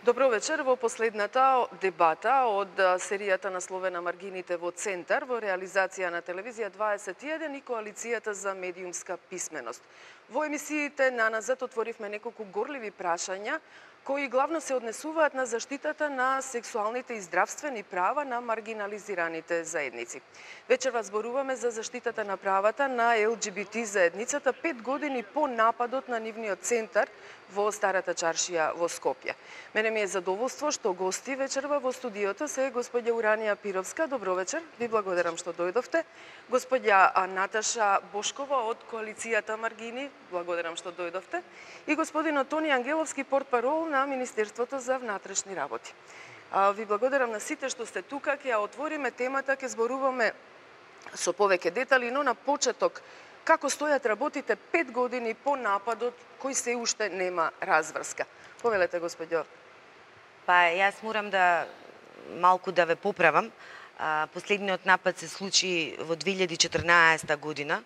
Добро вечер. Во последната дебата од серијата насловена Маргините во центар во реализација на Телевизија 21 и Коалицијата за медиумска писменост. Во емисиите наназад отворивме неколку горливи прашања кои главно се однесуваат на заштитата на сексуалните и здравствени права на маргинализираните заедници. Вечерва зборуваме за заштитата на правата на ЛГБТ заедницата 5 години по нападот на нивниот центар во Старата чаршија во Скопје. Мене ми е задоволство што гости вечерва во студиото се господја Уранија Пировска. Добро вечер. Ви благодарам што дојдовте. Господја Наташа Бошкова од Коалицијата Маргини. Благодарам што дојдовте. И господин Тони Ангеловски, портпарол на Министерството за внатрешни работи. Ви благодарам на сите што сте тука. Ќе ја отвориме темата, ќе зборуваме со повеќе детали, но на почеток како стојат работите 5 години по нападот кој се уште нема разврска. Повелете, господјо. Па, јас морам да малку да ве поправам. Последниот напад се случи во 2014 година,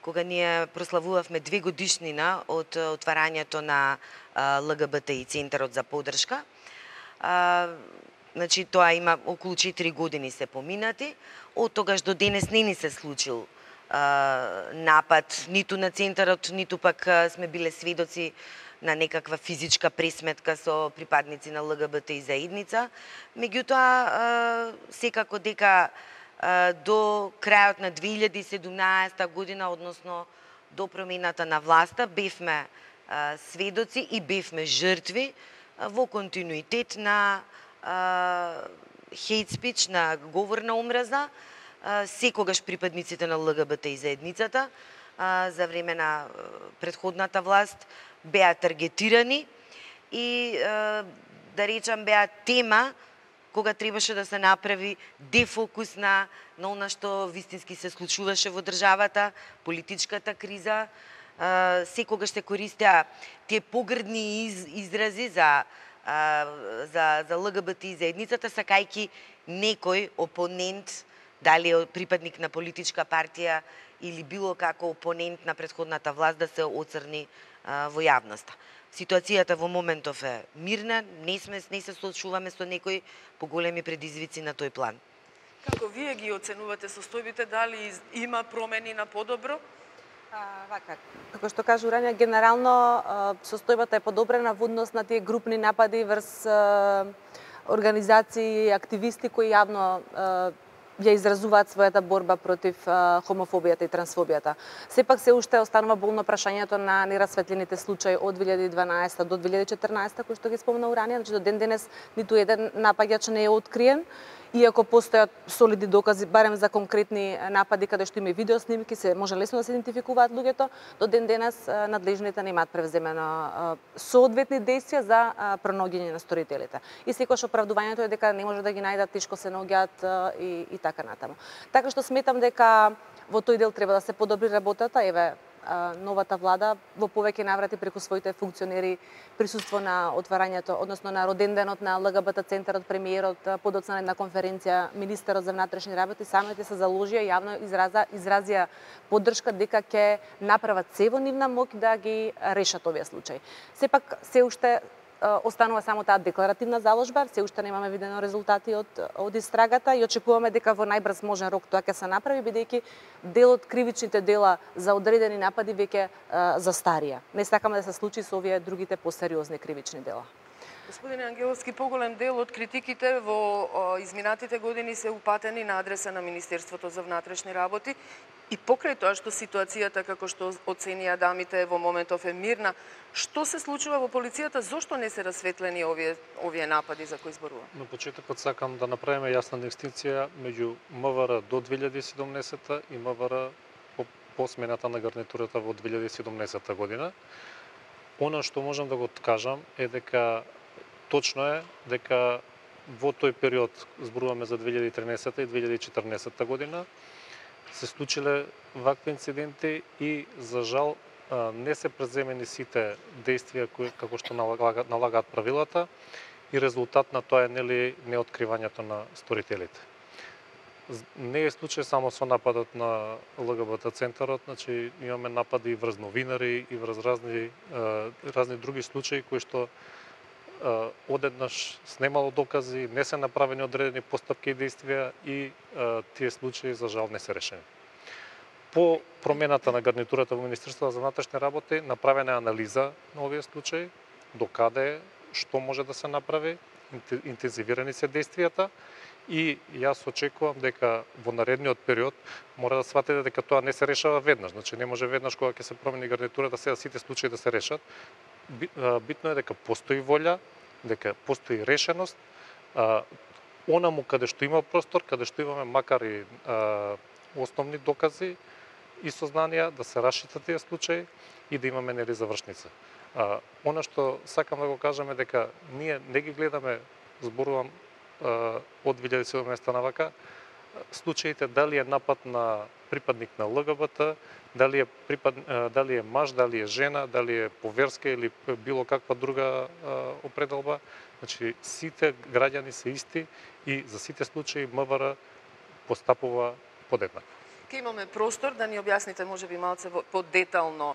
кога ние прославувавме 2 годишнина од отварањето на ЛГБТИ центарот за поддршка. Значи, тоа има околу 4 години се поминати. Од тогаш до денес не ни се случил напад ниту на центарот, ниту пак сме биле сведоци на некаква физичка пресметка со припадници на ЛГБТ заедница. Меѓутоа, секако дека до крајот на 2017 година, односно до промената на власта, бевме сведоци и бевме жртви во континуитет на хейт спич, на говор на омраза, секогаш припадниците на ЛГБТ заедницата за време на претходната власт беа таргетирани и да речам беа тема кога требаше да се направи дефокус на она што вистински се случуваше во државата, политичката криза. Секогаш се користеа тие погрдни изрази за ЛГБТ заедницата, сакајки некој опонент, дали е припадник на политичка партија или било како опонент на претходната власт, да се оцрни во јавноста. Ситуацијата во моментов е мирна, не се соочуваме со некои поголеми предизвици на тој план. Како вие ги оценувате состојбите, дали има промени на подобро? Вака, како што кажа Уранија, генерално состојбата е подобрена во однос на тие групни напади врз организации и активисти кои јавно ја изразуваат својата борба против хомофобијата и трансфобијата. Сепак се уште останува болно прашањето на нерасветлените случаи од 2012 до 2014, кои што ги спомна Уранија, значи до ден денес ниту еден напаѓач не е откриен, иако постојат солидни докази барем за конкретни напади каде што има видео снимки, се може лесно да се идентификуваат луѓето, до ден денес надлежните немаат превземено соодветни действија за пронаоѓање на сторителите. И секогаш оправдувањето е дека не може да ги најдат, тешко се наоѓаат и така натаму. Така што сметам дека во тој дел треба да се подобри работата. Еве, новата влада во повеќе наврати преку своите функционери присуство на отварањето, односно на роденденот на ЛГБТ центарот, премиерот, подоцна на една конференција, министерот за внатрешни работи, самите се заложија, јавно изразија поддршка дека ќе направат се во нивна моќ да ги решат овие случаи. Сепак се уште останува само таа декларативна заложба, се уште немаме видено резултати од истрагата и очекуваме дека во најбрз можен рок тоа ќе се направи, бидејќи дел од кривичните дела за одредени напади веќе застарија. Не сакаме да се случи со овие другите посериозни кривични дела. Господине Ангеловски, поголем дел од критиките во изминатите години се упатени на адреса на Министерството за внатрешни работи и покрај тоа што ситуацијата, како што оценија дамите, во моментов е мирна, што се случува во полицијата, зошто не се расветлени овие напади за кои зборувам? На почетокот сакам да направиме јасна дистинција меѓу МВР до 2017 и МВР по смената на гарнитурата во 2017 година. Она што можам да го кажам е дека точно е дека во тој период, зборуваме за 2013 и 2014 година, се случиле вакви инциденти и за жал не се преземени сите действија кои како што налагаат правилата и резултат на тоа е неоткривањето на сторителите. Не е случај само со нападот на ЛГБТ центарот, значи имаме напади и врз новинари и врз разни други случаи кои што одеднаш снемало докази, не се направени одредени постапки и действија и тие случаи за жал не се решени. По промената на гарнитурата во Министерството за внатрешни работи направена е анализа на овие случаи, докаде што може да се направи, интензивирани се действијата и јас очекувам дека во наредниот период мора да сватите дека тоа не се решава веднаш. Значи не може веднаш кога ќе се промени гарнитурата сега сите случаи да се решат. Битно е дека постои волја, дека постои решеност, онаму каде што има простор, каде што имаме макар и основни докази и сознанија да се расшират тие случаи и да имаме нели завршница. Она што сакам да го кажам е дека ние не ги гледаме, зборувам од 2017 навака, случаите дали е напад на припадник на ЛГБТ, дали е маж, дали е жена, дали е по верска или било каква друга определба. Значи сите граѓани се исти и за сите случаи МВР постапува подеднакво. Ке имаме простор да ни објасните можеби малце подетално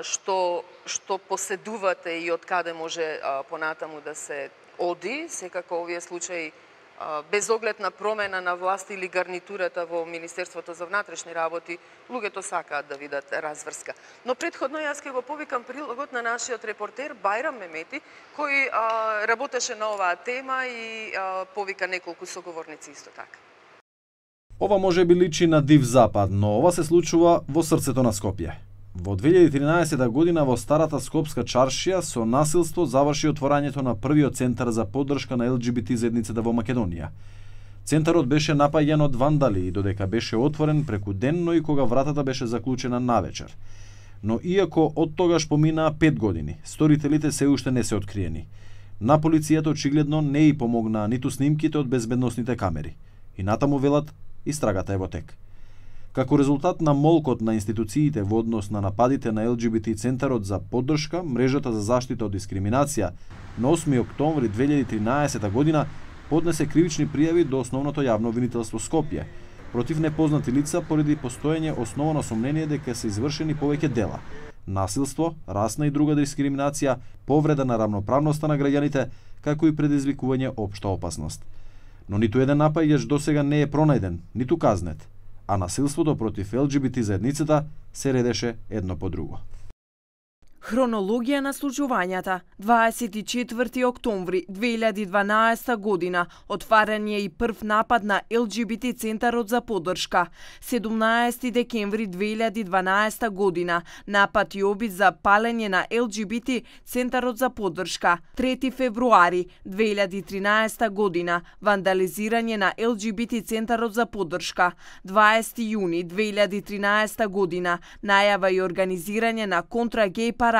што поседувате и од каде може понатаму да се оди, секако овие случаи без оглед на промена на власт или гарнитурата во Министерството за внатрешни работи, луѓето сакаат да видат разврска. Но претходно јас ќе го повикам прилогот на нашиот репортер Бајрам Мемети, кој работеше на оваа тема и повика неколку соговорници исто така. Ова може би личи на див запад, но ова се случува во срцето на Скопје. Во 2013 година во старата скопска чаршија со насилство заврши отворањето на првиот центар за поддршка на ЛГБТ заедницата во Македонија. Центарот беше напаѓан од вандали и додека беше отворен преку ден, но и кога вратата беше заклучена навечер. Но иако од тогаш поминаа 5 години, сторителите се уште не се откриени. На полицијата очигледно не и помогнаа ниту снимките од безбедносните камери. И натаму велат, истрагата е во тек. Како резултат на молкот на институциите во однос на нападите на ЛГБТ Центарот за поддршка, мрежата за заштита од дискриминација на 8 октомври 2013 година поднесе кривични пријави до Основното јавно обвинителство Скопје против непознати лица поради постоење основано сомнение дека се извршени повеќе дела: насилство, расна и друга дискриминација, повреда на рамноправноста на граѓаните, како и предизвикување општа опасност. Но ниту еден напаѓач досега не е пронајден, ниту казнет, а насилството против ЛГБТ заедницата се редеше едно по друго. Хронологија на случувањата. 24 октомври 2012 година отварање и прв напад на ЛГБТ Центарот за поддршка. 17 декември 2012 година напад и обид за палење на ЛГБТ Центарот за поддршка. 3 февруари 2013 година вандализирање на ЛГБТ Центарот за поддршка. 20 јуни 2013 година најава и организирање на контрагеј парада.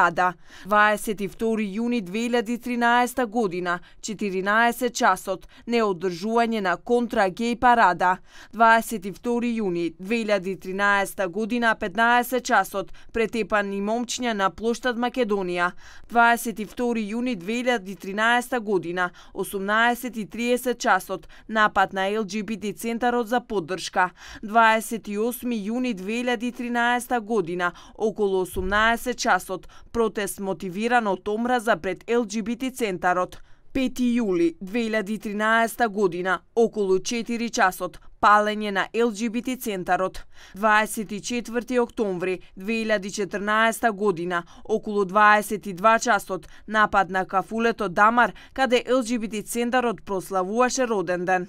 22 јуни 2013 година, 14 часот, неодржување на контрагеј парада. 22 јуни 2013 година, 15 часот, претепани момчиња на плоштад Македонија. 22 јуни 2013 година, 18:30 часот, напад на ЛГБТ Центарот за поддршка. 28 јуни 2013 година, околу 18 часот, протест мотивиран од омраза пред ЛГБТ Центарот. 5 јули 2013 година, околу 4 часот, палење на ЛГБТ Центарот. 24 октомври 2014 година, околу 22 часот, напад на кафулето Дамар, каде ЛГБТ Центарот прославуваше роден ден.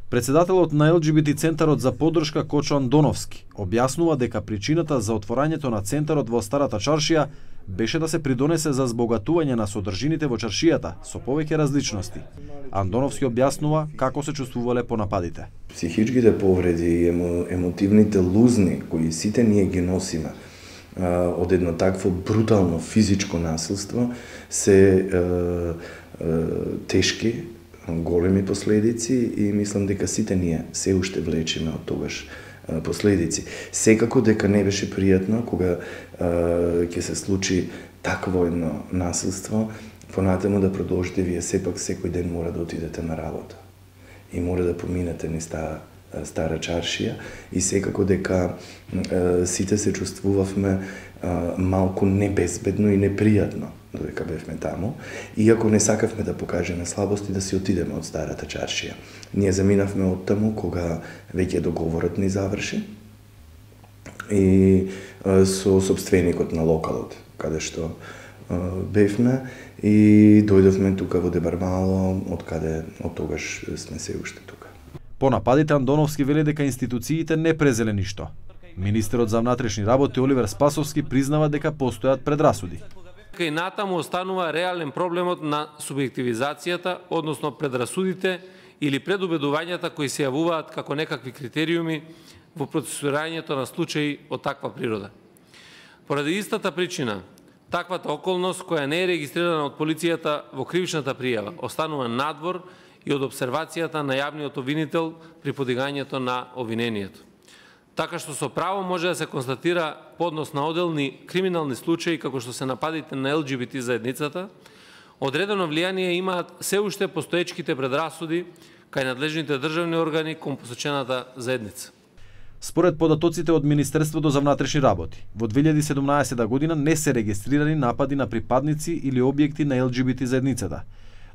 Председателот на ЛГБТ Центарот за поддршка Кочо Андоновски објаснува дека причината за отворањето на центарот во старата чаршија беше да се придонесе за збогатување на содржините во чаршијата со повеќе различности. Андоновски објаснува како се чувствувале по нападите. Психичките повреди и емотивните лузни кои сите ние ги носиме од едно такво брутално физичко насилство се тешки, големи последици и мислам дека сите ние се уште влечеме од тогаш последици. Секако дека не беше пријатно кога ќе се случи такво едно насилство, понатаму да продолжите, вие сепак секој ден мора да отидете на работа и мора да поминете низ таа стара чаршија и секако дека сите се чувствувавме малку небезбедно и непријатно додека бевме таму, иако не сакавме да покажеме слабости, да си отидеме од старата чаршија. Ние заминавме од таму кога веќе договорот ни заврши и со собственикот на локалот, каде што бевме, и дојдовме тука во Дебармало, од каде од тогаш сме се уште тука. По нападите Андоновски вели дека институциите не презеле ништо. Министерот за внатрешни работи Оливер Спасовски признава дека постојат предрасуди. Кај натаму останува реален проблемот на субјективизацијата, односно предрасудите или предубедувањата кои се јавуваат како некакви критериуми во процесуирањето на случаи од таква природа. Поради истата причина, таквата околност која не е регистрирана од полицијата во кривичната пријава останува надвор и од обсервацијата на јавниот обвинител при подигањето на обвинението. Така што со право може да се констатира поднос на оделни криминални случаи како што се нападите на ЛГБТ заедницата, одредено влијание имаат се уште постоечките предрасуди кај надлежните државни органи кон посочената заедница. Според податоците од Министерството за внатрешни работи, во 2017 година не се регистрирани напади на припадници или објекти на ЛГБТ заедницата,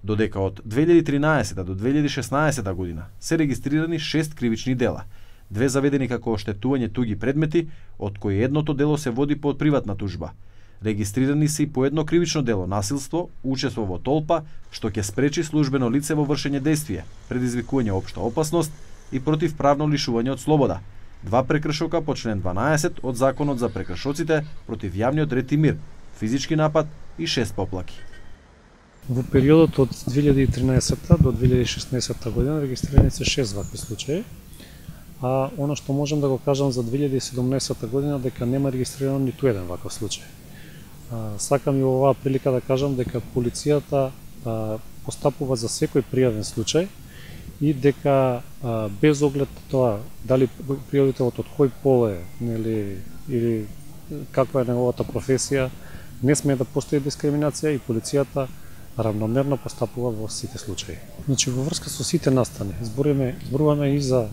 додека од 2013 до 2016 година се регистрирани 6 кривични дела, 2 заведени како оштетување туги предмети, од кои едното дело се води под приватна тужба. Регистрирани се и по едно кривично дело насилство, учество во толпа, што ќе спречи службено лице во вршење действие, предизвикување општа опасност и противправно лишување од слобода. 2 прекршока по член 12 од Законот за прекршоците против јавниот ред и мир, физички напад и 6 поплаки. Во периодот од 2013 до 2016 година регистрирани се 6 вакви случаи, а оно што можам да го кажам за 2017 година дека нема регистрирано ниту еден ваков случај. Сакам и во оваа прилика да кажам дека полицијата постапува за секој пријавен случај и дека без оглед тоа дали пријавителот од кој пол е, нели, или каква е неговата професија, не смее да постои дискриминација и полицијата равномерно постапува во сите случаи. Значи во врска со сите настани, зборуваме и за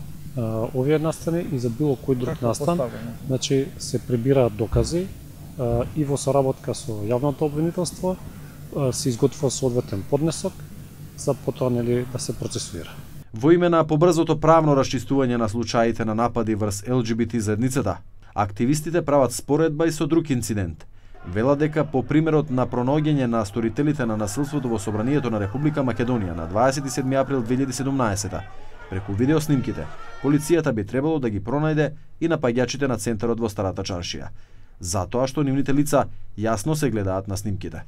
овие настани и за било кој друг настан, значи се прибираат докази и во соработка со јавното обвинителство се изготвува соодветен поднесок за потоа, нели, да се процесуира. Во име на побрзото правно расчистување на случаите на напади врз ЛГБТ заедницата, активистите прават споредба и со друг инцидент. Вела дека по примерот на пронаоѓање на сторителите на насилството во собранието на Република Македонија на 27 април 2017 преку видеоснимките, полицијата би требало да ги пронајде и напаѓачите на центарот во Старата чаршија, затоа што нивните лица јасно се гледаат на снимките.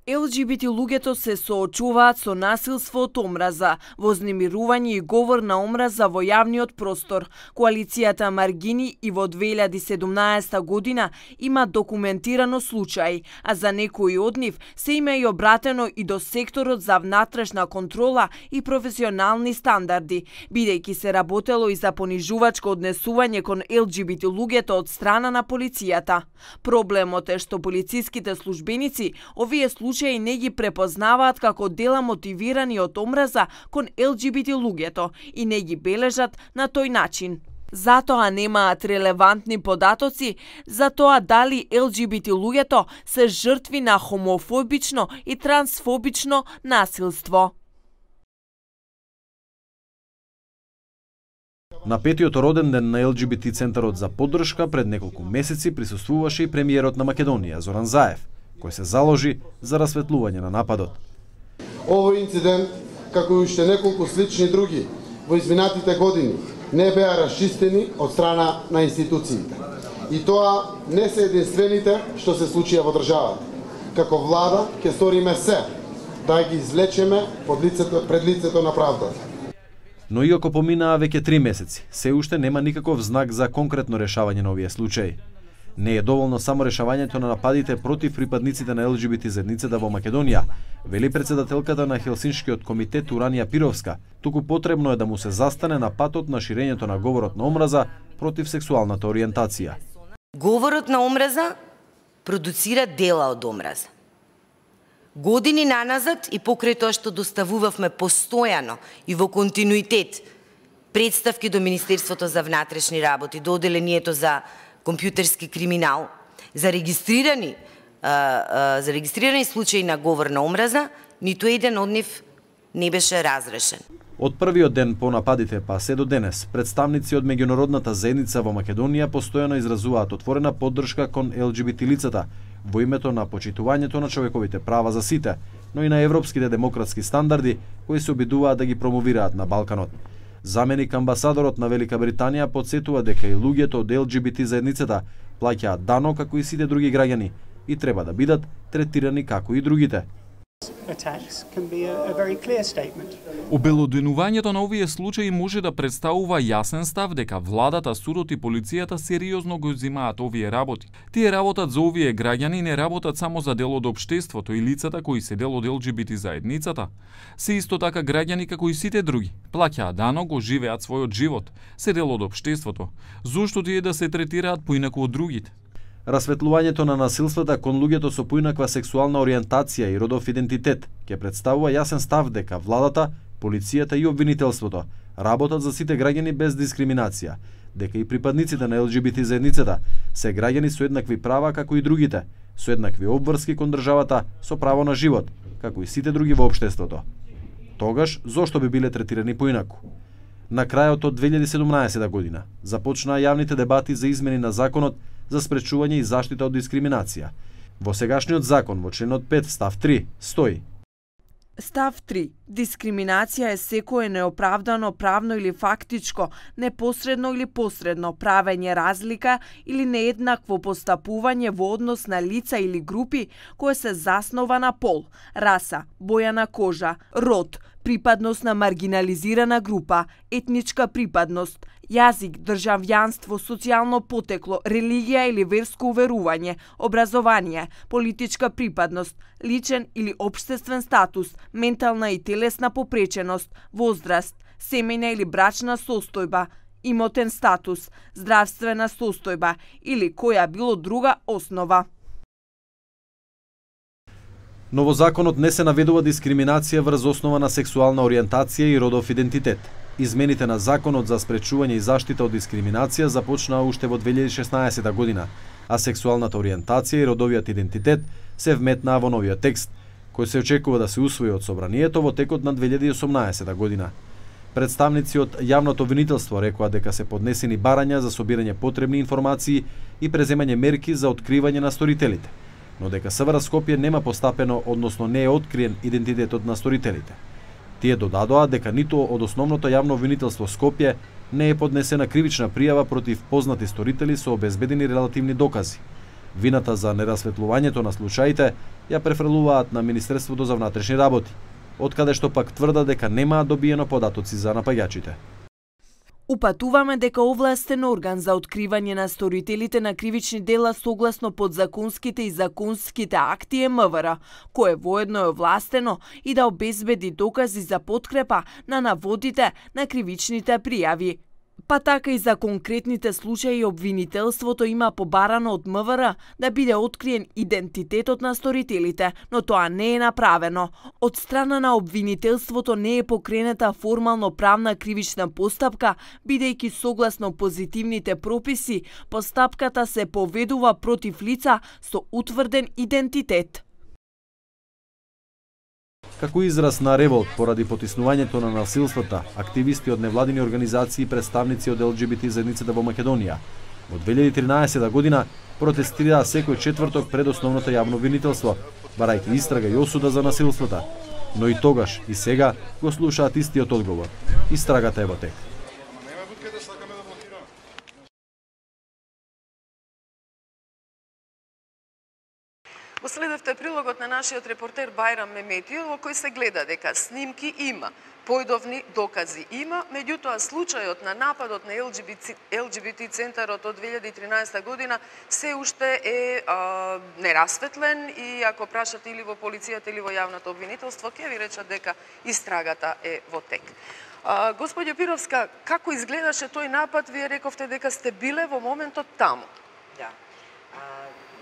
ЛГБТ луѓето се соочуваат со насилство од омраза, вознемирување и говор на омраза во јавниот простор. Коалицијата Маргини и во 2017 година има документирано случаи, а за некои од нив се има и обратено и до секторот за внатрешна контрола и професионални стандарди, бидејќи се работело и за понижувачко однесување кон ЛГБТ луѓето од страна на полицијата. Проблемот е што полициските службеници овие случаи не ги препознаваат како дела мотивирани од омраза кон ЛГБТ луѓето и не ги бележат на тој начин. Затоа немаат релевантни податоци за тоа дали ЛГБТ луѓето се жртви на хомофобично и трансфобично насилство. На 5-тиот роден ден на ЛГБТ центарот за поддршка пред неколку месеци присуствуваше и премиерот на Македонија Зоран Заев, кој се заложи за расветлување на нападот. Овој инцидент, како и уште неколку слични други во изминатите години, не беа расчистени од страна на институциите. И тоа не се единствените што се случија во државата. Како влада ќе сториме се да ги извлечеме пред лицето на правдата. Но иако поминаа веќе 3 месеци, се уште нема никаков знак за конкретно решавање на овие случаи. Не е доволно само решавањето на нападите против припадниците на ЛГБТ заедницата во Македонија, вели председателката на Хелсиншкиот комитет Уранија Пировска, туку потребно е да му се застане на патот на ширењето на говорот на омраза против сексуалната ориентација. Говорот на омраза продуцира дела од омраза. Години наназад и покрај тоа што доставувавме постојано и во континуитет представки до Министерството за внатрешни работи, до Оделението за компјутерски криминал, за регистрирани зарегистрирани случаи на говор на омраза, ниту еден од нив не беше разрешен. Од првиот ден по нападите па се до денес, представници од меѓународната заедница во Македонија постојано изразуваат отворена поддршка кон ЛГБТ лицата во името на почитувањето на човековите права за сите, но и на европските демократски стандарди кои се обидуваат да ги промовираат на Балканот. Заменик амбасадорот на Велика Британија потсетува дека и луѓето од ЛГБТ заедницата плаќаат дано како и сите други граѓани и треба да бидат третирани како и другите. Обелоденувањето на овие случаи може да представува јасен став дека владата, судот и полицијата сериозно го земаат овие работи. Тие работат за овие граѓани, не работат само за дел од општеството и лицата кои се дел од ЛГБТ заедницата. Се исто така граѓани како и сите други. Плаќаат дано, го живеат својот живот, се дел од општеството. Зошто тие да се третираат поинаку од другите? Расветлувањето на насилствата кон луѓето со поинаква сексуална ориентација и родов идентитет ќе представува јасен став дека владата, полицијата и обвинителството работат за сите граѓани без дискриминација, дека и припадниците на ЛГБТ заедницата се граѓани со еднакви права како и другите, со еднакви обврски кон државата, со право на живот, како и сите други во општеството. Тогаш, зошто би биле третирани поинаку? На крајот од 2017 година започнаа јавните дебати за измени на законот за спречување и заштита од дискриминација. Во сегашниот закон, во членот 5, став 3, стои: Став 3. Дискриминација е секое неоправдано правно или фактичко, непосредно или посредно правење разлика или нееднакво постапување во однос на лица или групи кое се заснова на пол, раса, боја на кожа, род, припадност на маргинализирана група, етничка припадност, јазик, државјанство, социјално потекло, религија или верско уверување, образование, политичка припадност, личен или општествен статус, ментална и телесна попреченост, возраст, семејна или брачна состојба, имотен статус, здравствена состојба или која било друга основа. Но во законот не се наведува дискриминација врз основа на сексуална ориентација и родов идентитет. Измените на Законот за спречување и заштита од дискриминација започнаа уште во 2016 година, а сексуалната ориентација и родовиот идентитет се вметнаа во новиот текст, кој се очекува да се усвои од собранието во текот на 2018 година. Представници од јавното обвинителство рекоа дека се поднесени барања за собирање потребни информации и преземање мерки за откривање на сторителите, но дека СВР Скопје нема постапено, односно не е откриен идентитетот на сторителите. Тие додадоа дека ниту од основното јавно обвинителство Скопје не е поднесена кривична пријава против познати сторители со обезбедени релативни докази. Вината за нерасветлувањето на случаите ја префрлуваат на Министерството за внатрешни работи, од каде што пак тврдат дека немаат добиено податоци за напаѓачите. Упатуваме дека овластен орган за откривање на сторителите на кривични дела согласно подзаконските и законските акти е МВР, кое воедно е овластено и да обезбеди докази за подкрепа на наводите на кривичните пријави. Па така и за конкретните случаи обвинителството има побарано од МВР да биде откриен идентитетот на сторителите, но тоа не е направено. Од страна на обвинителството не е покренета формално правна кривична постапка, бидејќи согласно позитивните прописи, постапката се поведува против лица со утврден идентитет. Како израз на револт поради потиснувањето на насилствата, активисти од невладини организации и представници од ЛГБТ заедницата во Македонија во 2013 година протестираа секој четврток пред основното јавно обвинителство, барајќи истрага и осуда за насилствата. Но и тогаш и сега го слушаат истиот одговор. Истрагата е во тек. Го следевте прилогот на нашиот репортер Бајрам Меметиев, во кој се гледа дека снимки има, појдовни докази има, меѓутоа случајот на нападот на ЛГБТ центарот од 2013 година се уште е нерасветлен и ако прашате или во полицијата или во јавното обвинителство, ќе ви речат дека истрагата е во тек. Господјо Пировска, како изгледаше тој напад? Вие рековте дека сте биле во моментот таму. Да.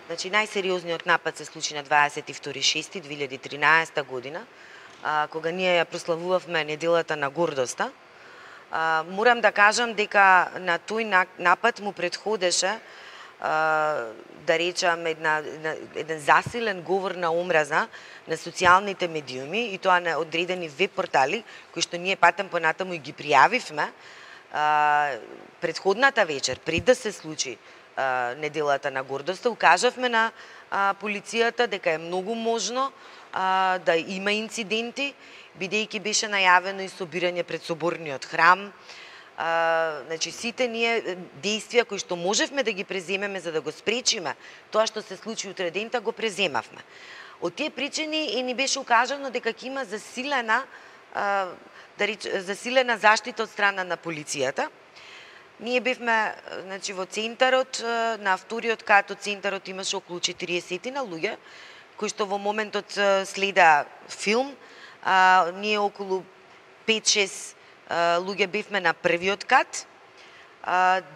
Значи, најсериозниот напад се случи на 22.6.2013 година, кога ние ја прославувавме неделата на гордоста. Морам да кажам дека на тој напад му предходеше да речам еден засилен говор на омраза на социјалните медиуми и тоа на одредени веб портали кои што ние патем понатаму и ги пријавивме претходната вечер пред да се случи неделата на гордоста, укажавме на полицијата дека е многу можно да има инциденти, бидејќи беше најавено и собирање пред соборниот храм. Значи, сите ние действија кои што можевме да ги преземеме за да го спречиме тоа што се случи утре дента, го преземавме. Од тие причини и ни беше укажано дека ќе има засилена заштита од страна на полицијата. Ние бевме, значи, во центарот, на вториот кат од центарот имаше околу 40 на луѓе, кои што во моментот следа филм. Ние околу 5-6 луѓе бевме на првиот кат.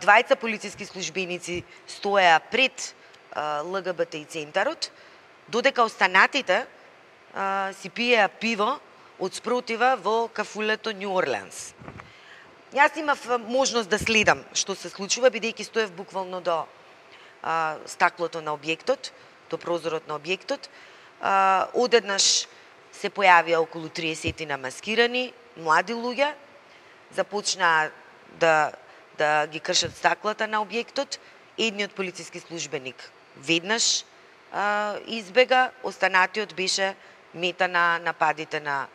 Двајца полициски службеници стоеа пред ЛГБТ и центарот, додека останатите си пиеа пиво од спротива во кафулето Нью Орлеанс. Јас имав можност да следам што се случува, бидејќи стоев буквално до стаклото на објектот, до прозорот на објектот. Одеднаш се појавија околу 30 на маскирани, млади луѓе, започнаа да ги кршат стаклата на објектот. Едниот полициски службеник веднаш избега, останатиот беше мета на нападите на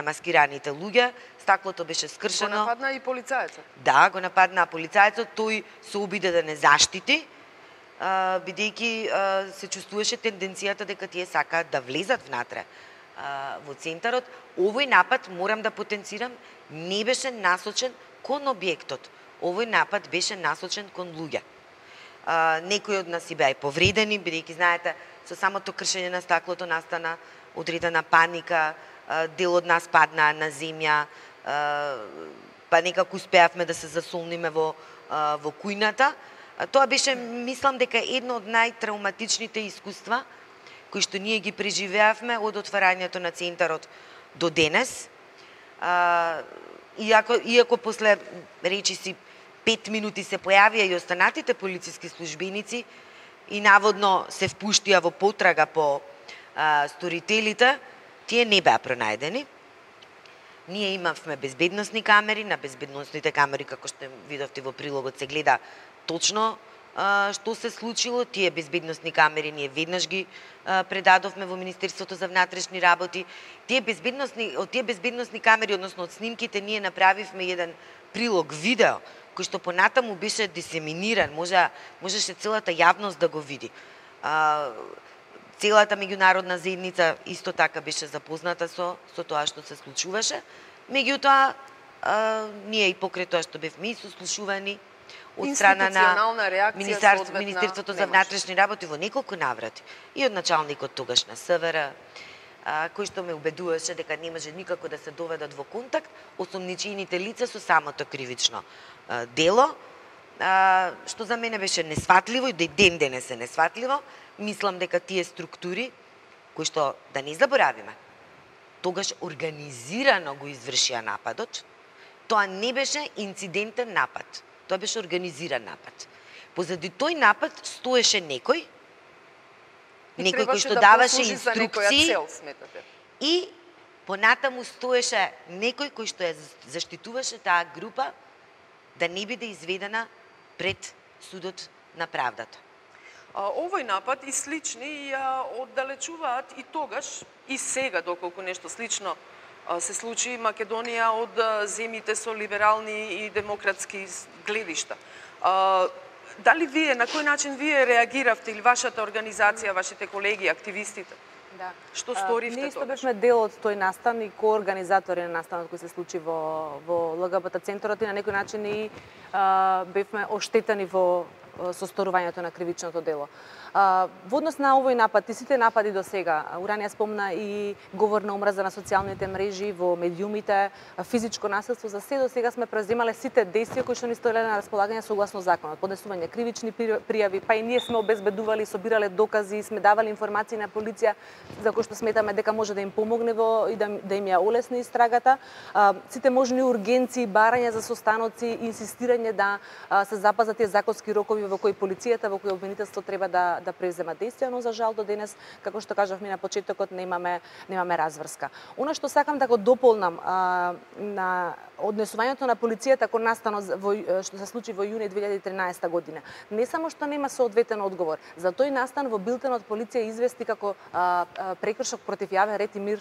маскираните луѓе. Стаклото беше скршено. Го нападна и полицајецот. Да, го нападна полицајецот, тој се обиде да не заштити, бидејќи се чувствуваше тенденцијата дека тие сакаат да влезат внатре во центарот. Овој напад, морам да потенцирам, не беше насочен кон објектот. Овој напад беше насочен кон луѓе. Некои од нас и беа повредени, бидејќи знаете, со самото кршење на стаклото настана одредена паника, дел од нас паднаа на земја, па некако успеавме да се засолниме во кујната. Тоа беше, мислам дека едно од најтравматичните искуства кои што ние ги преживеавме од отварањето на центарот до денес. Иако после речиси 5 минути се појавија и останатите полициски службеници и наводно се впуштија во потрага по сторителите, тие не беа пронајдени. Ние имавме безбедносни камери, на безбедносните камери, како што видовте во прилогот, се гледа точно што се случило. Тие безбедносни камери ние веднаш ги предадовме во Министерството за внатрешни работи. Од тие безбедносни камери, односно од снимките, ние направивме еден прилог видео, кој што понатаму беше дисеминиран, можеше целата јавност да го види. Целата меѓународна заедница исто така беше запозната со тоа што се случуваше. Меѓутоа, ние и покрај тоа што бевме и сослушувани од страна на Министерството за внатрешни работи во неколку наврати и од началникот тогаш на СВР, кој што ме убедуваше дека не може никако да се доведат во контакт осомничените лица со самото кривично дело, што за мене беше несватливо и до ден денес е несватливо. Мислам дека тие структури, кои што, да не заборавиме, тогаш организирано го извршија нападот, тоа не беше инцидентен напад, тоа беше организиран напад. Позади тој напад стоеше некој кој што даваше инструкции и понатаму стоеше некој кој што ја заштитуваше таа група да не биде изведена пред судот на правдата. Овој напад и слични ја оддалечуваат и тогаш и сега, доколку нешто слично се случи Македонија од земјите со либерални и демократски гледишта. Дали вие, на кој начин вие реагиравте или вашата организација, вашите колеги, активистите? Да. Што сторивте Ние тогаш? бевме дел од тој настан и коорганизатори на настанот кој се случи во ЛГБТ центарот и на некој начин и бевме оштетени во состорувањето на кривичното дело. Во однос на овој напад и сите напади до сега, Уранија спомна и говор на омраза на социјалните мрежи, во медиумите, физичко насилство, за се до сега сме преземале сите действија кои што ни стоеле на располагање согласно законот. Поднесување кривични пријави, па и ние сме обезбедували, собирале докази, сме давали информации на полиција за кои што сметаме дека може да им помогне и да им ја олесни истрагата. Сите можни ургенции, барања за состаноци, инсистирање да се запазат тие законски рокови случаи во кои полицијата, во кои обвинителство треба да презема действија, но за жал до денес, како што кажавме на почетокот, немаме разврска. Она што сакам да го дополнам на однесувањето на полицијата кон настанот што се случи во јуни 2013 година. Не само што нема соодветен одговор, за тој настан во билтенот полиција извести како прекршок против јавен ред и мир.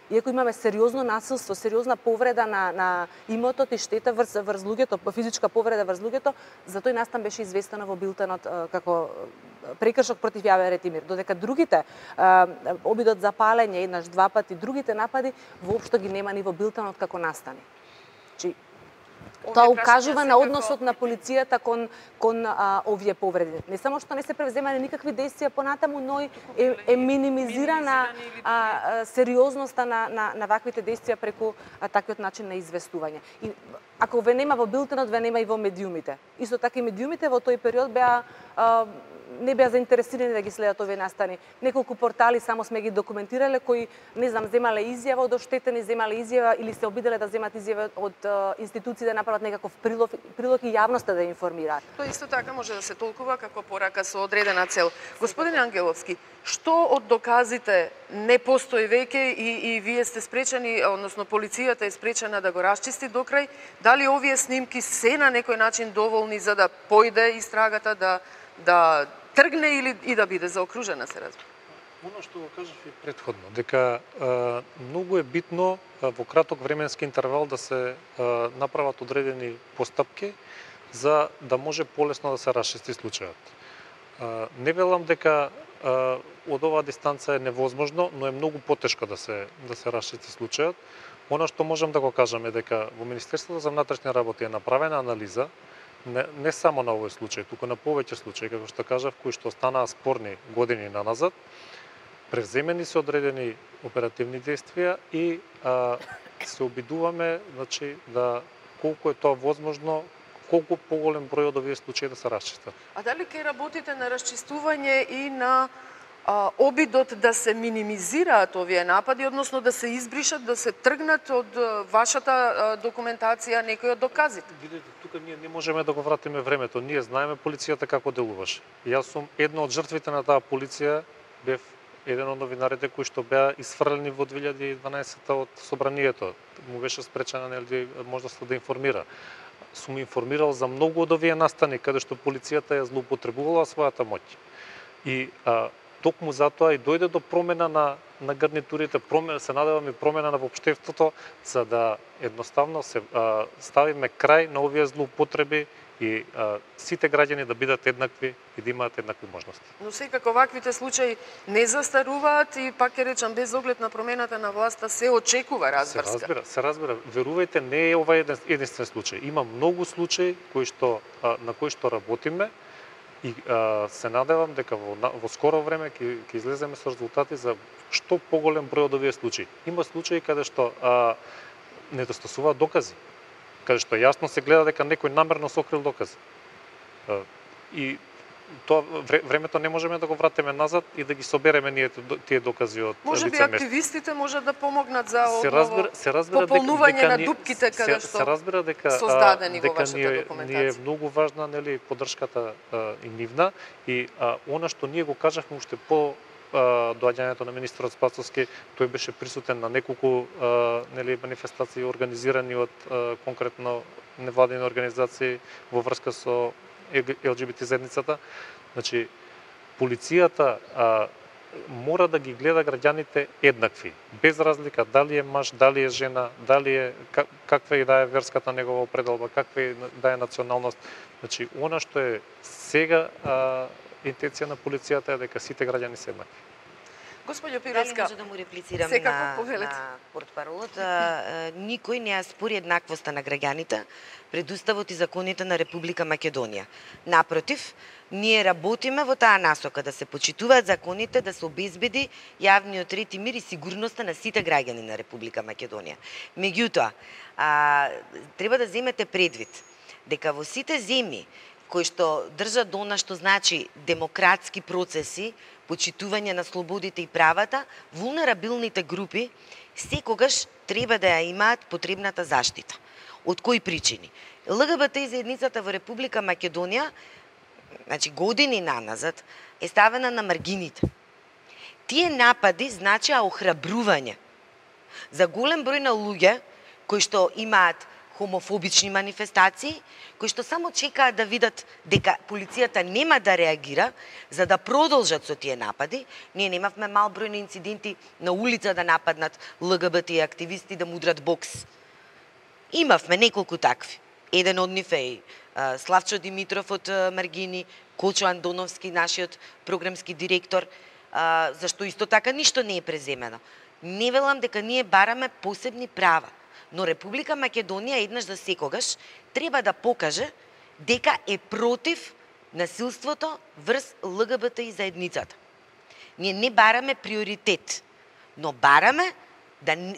Иако имаме сериозно насилство, сериозна повреда на имотот и штета врз луѓето, физичка повреда врз луѓето, за тој настан беше известено во билтенот како прекршок против јавен ред и мир. Додека другите, обидот за палење еднаш, два пати, другите напади, воопшто ги нема ни во билтенот како настани. Тоа укажува на односот на полицијата кон овие повреди. Не само што не се превземани никакви действија понатаму, но е минимизирана сериозноста на ваквите действија преку таквиот начин на известување. И ако ве нема во билтенот, ве нема и во медиумите. Исто така и медиумите во тој период не беа заинтересирани да ги следат овие настани. Неколку портали само сме ги документирале кои, не знам, земале изјава од оштетени, земале изјава или се обиделе да земат изјава од институции да направат некаков прилог и јавноста да информираат. Тоа исто така може да се толкува како порака со одредена цел. Господин Ангеловски, што од доказите не постои веќе и вие сте спречени, односно полицијата е спречена да го расчисти до крај? Дали овие снимки се на некој начин доволни за да појде истрагата, да тргне или и да биде заокружена, се разбира? Оно што го кажав и претходно, дека многу е битно во краток временски интервал да се направат одредени постапки за да може полесно да се расчисти случајот. Не велам дека од оваа дистанца е невозможно, но е многу потешко да се расчисти случајот. Оно што можам да го кажам е дека во Министерството за внатрешни работи е направена анализа не само на овој случај, туку на повеќе случаи, како што кажав, кои што останаа спорни години наназад, превземени се одредени оперативни действија и се обидуваме, значи, да колку е тоа возможно, колку поголем број од овие случаи да се расчистат. А дали ќе работите на расчистување и на обидот да се минимизираат овие напади, односно да се избришат, да се тргнат од вашата документација некои од доказите? Видете, тука ние не можеме да го вратиме времето. Ние знаеме полицијата како делуваше. Јас сум една од жртвите на таа полиција, бев еден од новинарите кои што беа исфрлени во 2012 од собранието. Му беше спречена можноста да информира. Сум информирал за многу од овие настани каде што полицијата ја злоупотребувала својата моќ. И токму затоа и дојде до промена на гарнитурите, се надеваме промена на воопштеството, за да едноставно се ставиме крај на овие злоупотреби и сите граѓани да бидат еднакви и да имаат еднакви можности. Но секако ваквите случаи не застаруваат и пак ќе речам без оглед на промената на власта се очекува разврска. Се разбира. Верувајте, не е ова единствен случај. Има многу случаи на кои што работиме. И се надевам дека во скоро време ќе излеземе со резултати за што поголем број од овие случаи. Има случаи каде што недостасуваат докази, каде што јасно се гледа дека некој намерно сокрил докази. И тоа времето не можеме да го вратиме назад и да ги собереме ние тие докази од лице место. Може би активистите можат да помогнат за пополнување на дупките каде што создадени во вашата документација. Ние е многу важна поддршката и нивна и она што ние го кажавме уште по доаѓањето на министерот Спасовски, тој беше присутен на неколку манифестации организирани од конкретно невладини организации во врска со ЛГБТ заедницата. Значи, полицијата мора да ги гледа граѓаните еднакви, без разлика дали е маж, дали е жена, дали е каква и да е верската негова определба, каква и да е националност. Значи, она што е сега интенција на полицијата е дека сите граѓани се еднакви. Господјо Пиреска, може да му реплицирам на портпаролот. Никој не ја спори еднаквоста на граѓаните пред Уставот и законите на Република Македонија. Напротив, ние работиме во таа насока да се почитуваат законите, да се обезбеди јавниот ред и мир и сигурноста на сите граѓани на Република Македонија. Меѓутоа, треба да земете предвид дека во сите земји кои што држат до она што значи демократски процеси, почитување на слободите и правата, вулнерабилните групи секогаш треба да ја имаат потребната заштита. Од кои причини? ЛГБТ заедницата во Република Македонија значи години наназад, е ставена на маргините. Тие напади значеа охрабрување за голем број на луѓе кои што имаат хомофобични манифестации, кои што само чекаат да видат дека полицијата нема да реагира за да продолжат со тие напади. Ние немавме мал број на инциденти на улица да нападнат ЛГБТ активисти, да мудрат бокс. Имавме неколку такви. Еден од нив е Славчо Димитров од Маргини, Кочо Андоновски, нашиот програмски директор, зашто исто така ништо не е преземено. Не велам дека ние бараме посебни права, но Република Македонија еднаш за секогаш треба да покаже дека е против насилството врз ЛГБТ и заедницата. Ние не бараме приоритет, но бараме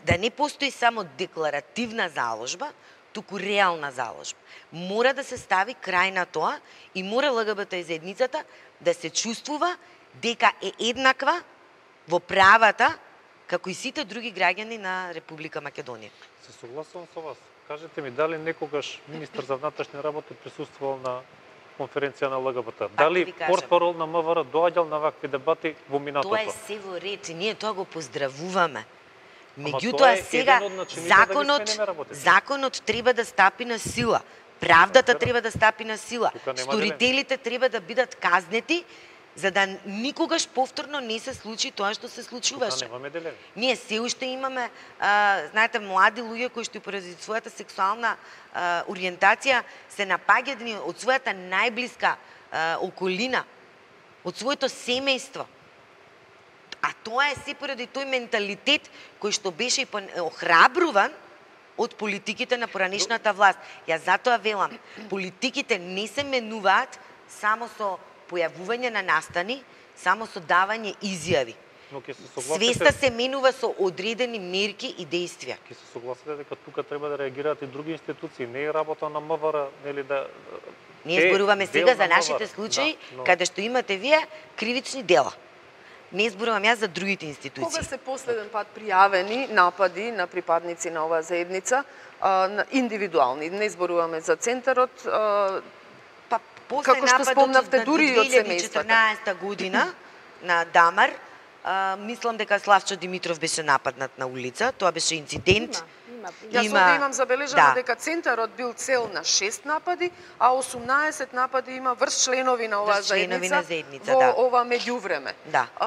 да не постои само декларативна заложба, туку реална заложба. Мора да се стави крај на тоа и мора ЛГБТ и заедницата да се чувствува дека е еднаква во правата како и сите други граѓани на Република Македонија. Се согласувам со вас. Кажете ми, дали некогаш министар за внатрешни работи присуствувал на конференција на ЛГБТ? Дали портпарол на МВР доаѓал на вакви дебати во минатото? Тоа е се во ред и ние тоа го поздравуваме. Меѓутоа сега законот треба да стапи на сила. Правдата треба да стапи на сила. Сторителите треба да бидат казнети за да никогаш повторно не се случи тоа што се случуваше. Ние се уште имаме, знаете, млади луѓе кои што поради својата сексуална ориентација се напаѓани од својата најблиска околина, од своето семејство. А тоа е се поради тој менталитет кој што беше охрабруван од политиките на поранешната власт. Ја затоа велам, политиките не се менуваат само со појавување на настани, само со давање изјави. Свеста се менува со одредени мерки и действија. Ке се согласите дека тука треба да реагираат и други институции, не е работа на МВР, нели да... Ние зборуваме сега за нашите случаи, каде што имате вие кривични дела. Не зборувам јас за другите институции. Кога се последен пат пријавени напади на припадници на оваа заедница, индивидуални, не зборуваме за центарот, како што спомнавте, дури и од семејствата. 2014 година на Дамар, мислам дека Славчо Димитров беше нападнат на улица, тоа беше инцидент. Јас овде имам забележано дека центарот бил цел на 6 напади, а 18 напади има врз членови на оваа заедница во ова меѓувреме.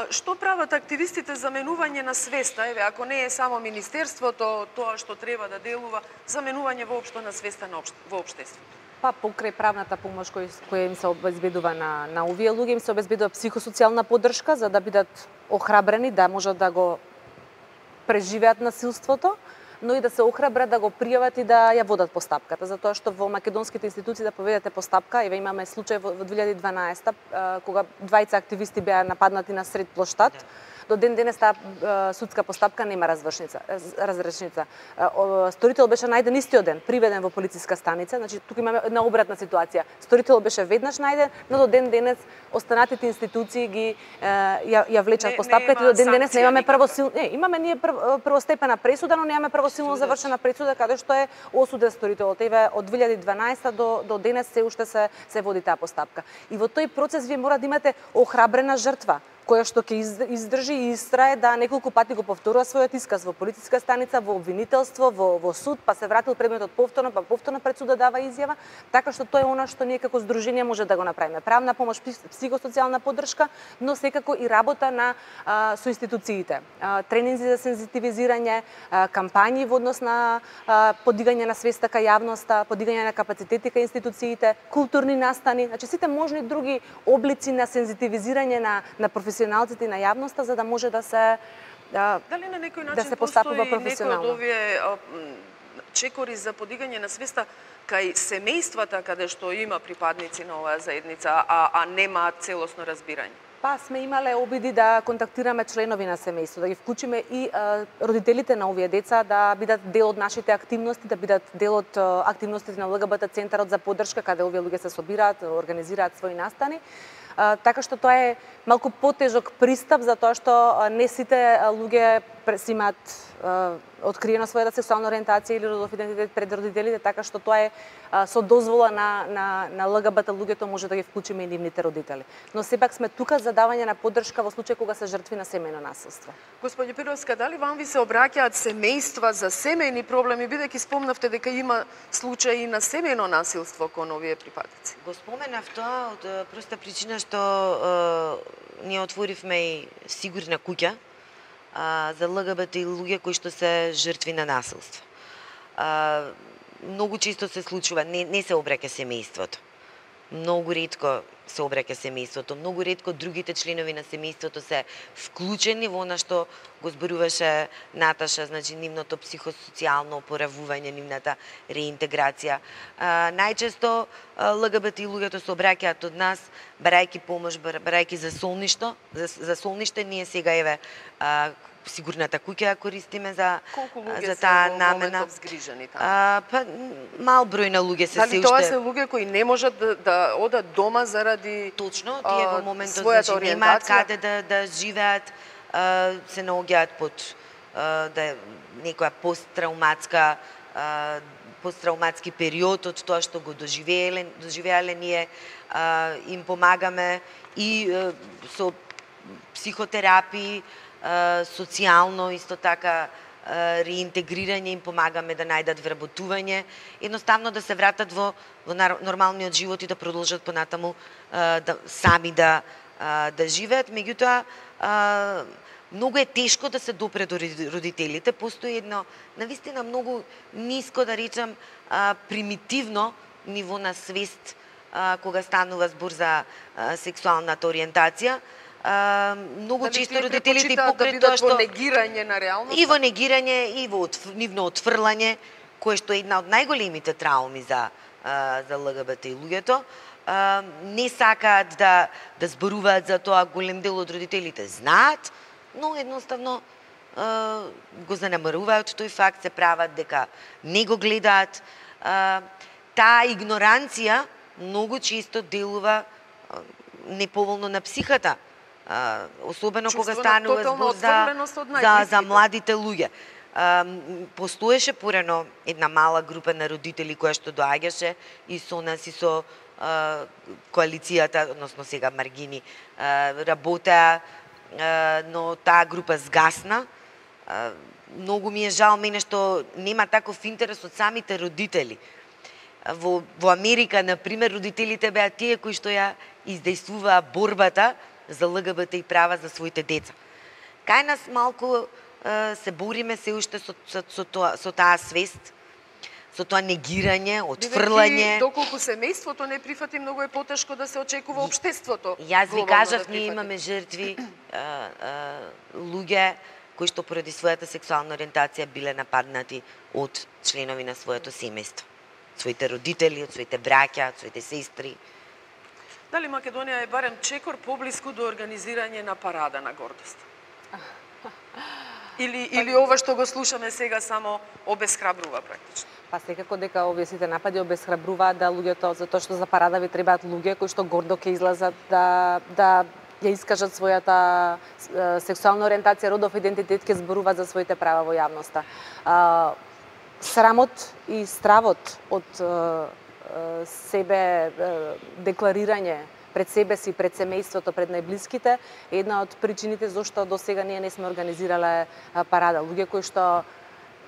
Што прават активистите за менување на свеста? Еве, ако не е само министерството тоа што треба да делува, за менување воопшто на свеста во општеството? Па покрај правната помош која им се обезбедува на овие луѓе, им се обезбедува психосоцијална поддршка за да бидат охрабрени да можат да го преживеат насилството, но и да се охрабрат да го пријават и да ја водат постапката, затоа што во македонските институции да поведете постапка, еве имаме случај во 2012 кога двајца активисти беа нападнати на сред плоштад. До ден денес таа судска постапка нема разрешница. Сторител беше најден истиот ден, приведен во полициска станица, значи тука имаме една обратна ситуација. Сторител беше веднаш најден, но до ден денес останатите институции ги ја влечат постапката и до ден денес немаме имаме ние првостепена пресуда, но немаме правосилно завршена пресуда каде што е осуден сторителот. Еве од 2012 до денес се уште се води таа постапка. И во тој процес вие мора да имате охрабрена жртва која што ќе издржи и истрае да неколку пати го повторува својот исказ во полициска станица, во обвинителство, во суд, па се вратил предметот повторно, па повторно пред судот дава изјава, така што тоа е она што ние како здружение може да го направиме. Правна помош, психосоцијална поддршка, но секако и работа со институциите. Тренинзи за сензитивизирање, кампањи во однос на подигање на свеста кај јавноста, подигање на капацитети кај институциите, културни настани, значи сите можни други облици на сензитивизирање на професионалците и на јавноста за да може да се дали на некој начин постапува професионално. Некој од овие чекори за подигање на свеста кај семејствата каде што има припадници на оваа заедница, а немаат целосно разбирање? Па сме имале обиди да контактираме членови на семејство, да ги вклучиме и родителите на овие деца да бидат дел од нашите активности, да бидат дел од активностите на ЛГБТ центарот за поддршка каде овие луѓе се собираат, организираат своји настани. така што тоа е малку потежок пристап затоа што не сите луѓе си имаат откриено својата сексуална ориентација или родов идентитет пред родителите, така што тоа е со дозвола на ЛГБТ луѓето може да ги вклучиме и нивните родители. Но сепак сме тука за давање на поддршка во случај кога се жртви на семејно насилство. Господи Пировска, дали вам ви се обраќаат семејства за семејни проблеми, бидејќи спомнавте дека има случаи на семејно насилство кон овие припадници? Го споменав тоа од проста причина што ние отворивме и сигурна куќа за ЛГБТ и луѓе кои што се жртви на насилство. Многу често се случува, не се обраќа семејството. Многу ретко се обраќа семејството, многу ретко другите членови на семејството се вклучени во она што го зборуваше Наташа, значи нивното психосоцијално опоравување, нивната реинтеграција. Најчесто ЛГБТ и луѓето се обраќаат од нас барајќи помош, барајќи за солниште. Ние сега еве сигурната куќа ја користиме за таа намена. Па мал број на луѓе се уште. Дали тоа се луѓе кои не можат да одат дома заради точно тие во моментот значи немаат каде да живеат, се наоѓаат под некоја посттравматски период од тоа што го доживеале, ние им помагаме и со психотерапии, социјално исто така реинтегрирање, им помагаме да најдат вработување, едноставно да се вратат во нормалниот живот и да продолжат понатаму сами да живеат. Меѓутоа многу е тешко да се допре до родителите, постои едно навистина многу ниско, да речам, примитивно ниво на свест кога станува збор за сексуалната ориентација. Многу често родителите покрај тоа што негирање на реалноста и во негирање и во нивно отфрлање, кое што е една од најголемите трауми за ЛГБТ и луѓето, не сакаат да зборуваат за тоа. Голем дел од родителите знаат, но едноставно го занемаруваат тој факт, се прават дека не го гледаат. Таа игноранција многу често делува неповолно на психата, особено кога станува збор за младите луѓе. Постоеше порано една мала група на родители која што доаѓаше и со нас и со коалицијата, односно сега Маргини, работеа, но таа група згасна. Многу ми е жал мене што нема таков интерес од самите родители. Во Америка, например, родителите беа тие кои што ја издействуваа борбата за ЛГБТ и права за своите деца. Кај нас малку се бориме се уште со таа свест, со тоа негирање, отфрлање. Доколку семејството не прифати, многу е потешко да се очекува општеството. Јас ви кажав, ние имаме жртви, луѓе кои што поради својата сексуална ориентација биле нападнати од членови на своето семејство. Своите родители, од своите браќа, од своите сестри. Дали Македонија е барем чекор поблиску до организирање на парада на гордост? Или ова што го слушаме сега само обесхрабрува практично? Па секако дека овие сите напади обесхрабруваат да луѓето, затоа што за парада ви требаат луѓе кои што гордо ќе излазат да ја искажат својата сексуална ориентација, родов идентитет, ќе зборуваат за своите права во јавноста. Срамот и стравот од себе декларирање пред себе си, пред семејството, пред најблиските е една од причините зашто до сега ние не сме организирале парада. Луѓе кои што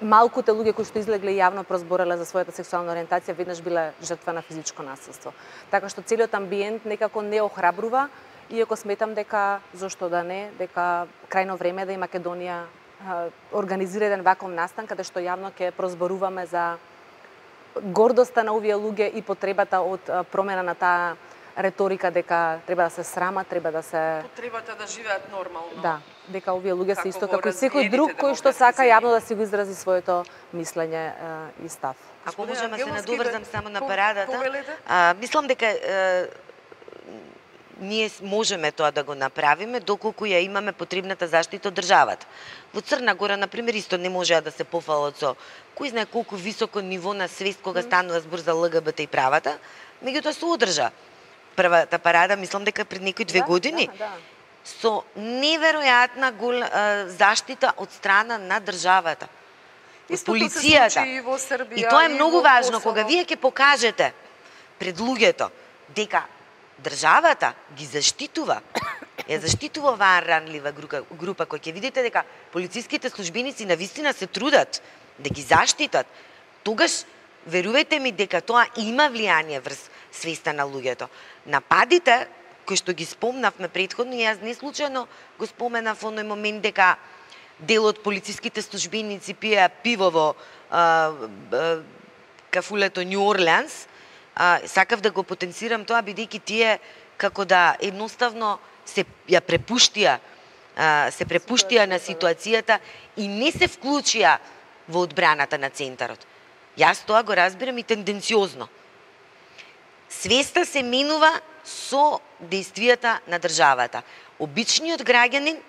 малкуте луѓе кои што излегле јавно прозбореле за својата сексуална ориентација веднаш биле жртва на физичко насилство. Така што целиот амбиент некако не охрабрува, иако сметам дека зошто да не, дека крајно време да и Македонија организира еден ваков настан каде што јавно ќе прозборуваме за гордоста на овие луѓе и потребата од промена на таа реторика дека треба да се срамат, треба да се потребата да живеат нормално. Да, дека овие луѓе се исто како и секој друг кој што сака јавно да си го изрази своето мислење и став. Ако можам да се надоврзам само на парадата, мислам дека ние можеме тоа да го направиме доколку ја имаме потребната заштита од државата. Во Црна Гора, например, исто не можеа да се пофалат со кој знае колку високо ниво на свест кога станува збор за ЛГБТ и правата, меѓутоа се одржа првата парада, мислам дека пред некои 2 години, со неверојатна заштита од страна на државата. Полицијата. Се случи и во Србија. И тоа е многу важно, кога вие ќе покажете пред луѓето дека државата ги заштитува, ја заштитува оваа ранлива група, кој ќе видите дека полициските службеници навистина се трудат да ги заштитат, тогаш верувајте ми дека тоа има влијание врз свеста на луѓето. Нападите кои што ги спомнавме претходно, јас не случајно го споменав во оној момент дека дел од полициските службеници пиеа пиво во кафулето Нью Орлеанс. Сакав да го потенцирам тоа, бидејќи тие како да едноставно се препуштија на ситуацијата и не се вклучија во одбраната на центарот. Јас тоа го разбирам и тенденциозно. Свеста се менува со действијата на државата. Обичниот граѓанин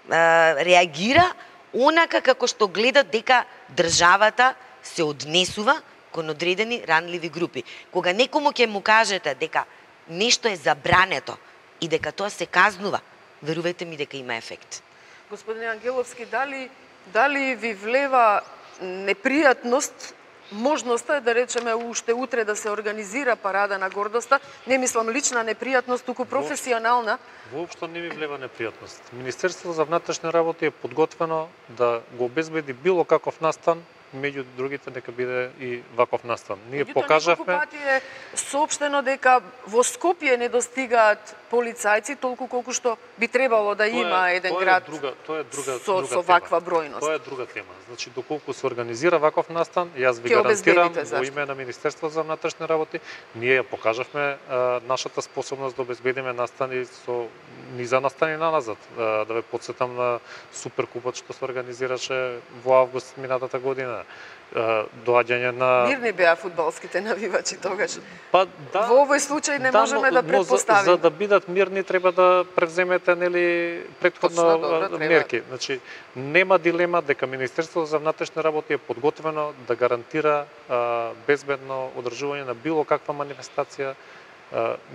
реагира онака како што гледа дека државата се однесува кон одредени ранливи групи. Кога некому ќе му кажете дека нешто е забрането и дека тоа се казнува, верувајте ми дека има ефект. Господине Ангеловски, дали ви влева непријатност можноста е да речеме уште утре да се организира парада на гордоста, не мислам лична непријатност, туку професионална? Воопшто не ми влева непријатност. Министерството за внатрешни работи е подготвено да го обезбеди било каков настан, меѓу другите дека биде и ваков настан. Ние покажавме... Неколку пати е соопштено дека во Скопје не достигаат полицајци толку колку што би требало да има еден град со ваква бројност. Тоа е друга тема. Значи, доколку се организира ваков настан, јас ви гарантирам во име на Министерството за внатрешни работи, ние ја покажавме нашата способност да обезбедиме настани со низа настани наназад. Да ве потсетам на Суперкупот што се организираше во август минатата година. Доаѓање на... Мирни беа фудбалските навивачи тогаш. Па да. Во овој случај не можеме да претпоставиме. За да бидат мирни треба да превземете претходно мерки. Значи нема дилема дека Министерството за внатрешни работи е подготвено да гарантира безбедно одржување на било каква манифестација,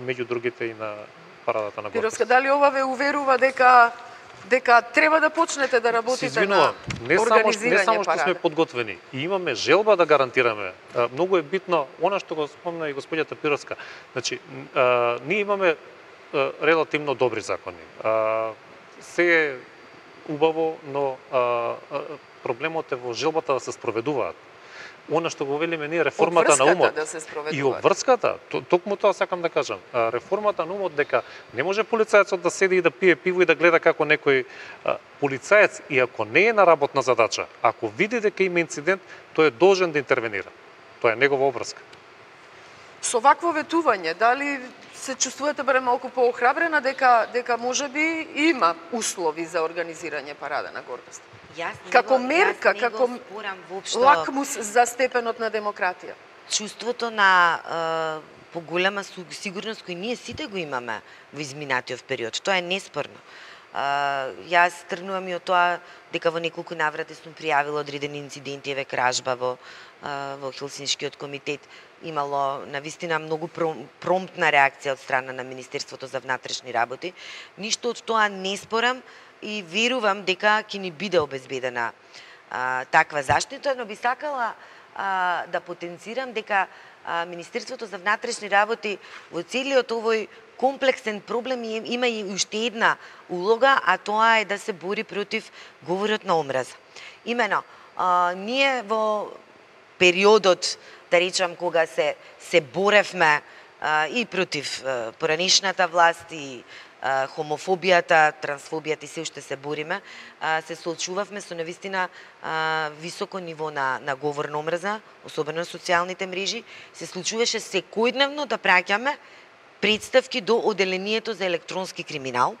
меѓу другите и на парадата на гордост. Пировска, дали ова ве уверува дека треба да почнете да работите на организирање не само што сме подготвени, и имаме желба да гарантираме. Многу е битно она што го спомна и господјата Пировска. Значи, ние имаме релативно добри закони. Се е убаво, но проблемот е во желбата да се спроведуваат. Она што го велиме ние реформата на умот и обврската, токму тоа сакам да кажам. Реформата на умот дека не може полицајецот да седи и да пие пиво и да гледа како некој полицаец, и ако не е на работна задача, ако види дека има инцидент, тој е должен да интервенира. Тоа е негова обврска. Со вакво ветување, дали се чувствувате барем малку поохрабрена дека можеби има услови за организирање парада на гордост? Како мерка, како лакмус за степенот на демократија. Чувството на поголема сигурност кој ние сите го имаме во изминатиот период, тоа е неспорно. Јас тргнувам и од тоа дека во неколку наврати сум пријавила одредени инциденти, еве кражба во Хелсиншкиот комитет. Имало навистина многу промптна реакција од страна на Министерството за внатрешни работи. Ништо од тоа не спорам и верувам дека ќе ни биде обезбедена таква заштита, но би сакала да потенцирам дека Министерството за внатрешни работи во целиот овој комплексен проблем има и уште една улога, а тоа е да се бори против говорот на омраза. Имено, ние во периодот, да речам, кога се боревме и против поранешната власт и хомофобијата, трансфобијата и се уште се бориме, се соочувавме со навистина високо ниво на говор на омраза, особено на социјалните мрежи. Се случуваше секојдневно да праќаме представки до оделението за електронски криминал.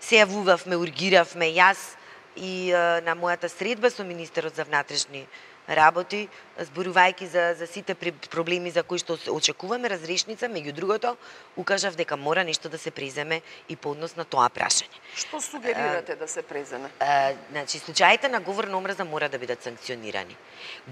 Се јавувавме, ургиравме јас и на мојата средба со министерот за внатрешни работи, зборувајќи за сите проблеми за кои што очекуваме разрешница, меѓу другото, укажав дека мора нешто да се преземе и по однос на тоа прашање. Што сугерирате да се преземе? Значи, случаите на говор на омраза мора да бидат санкционирани.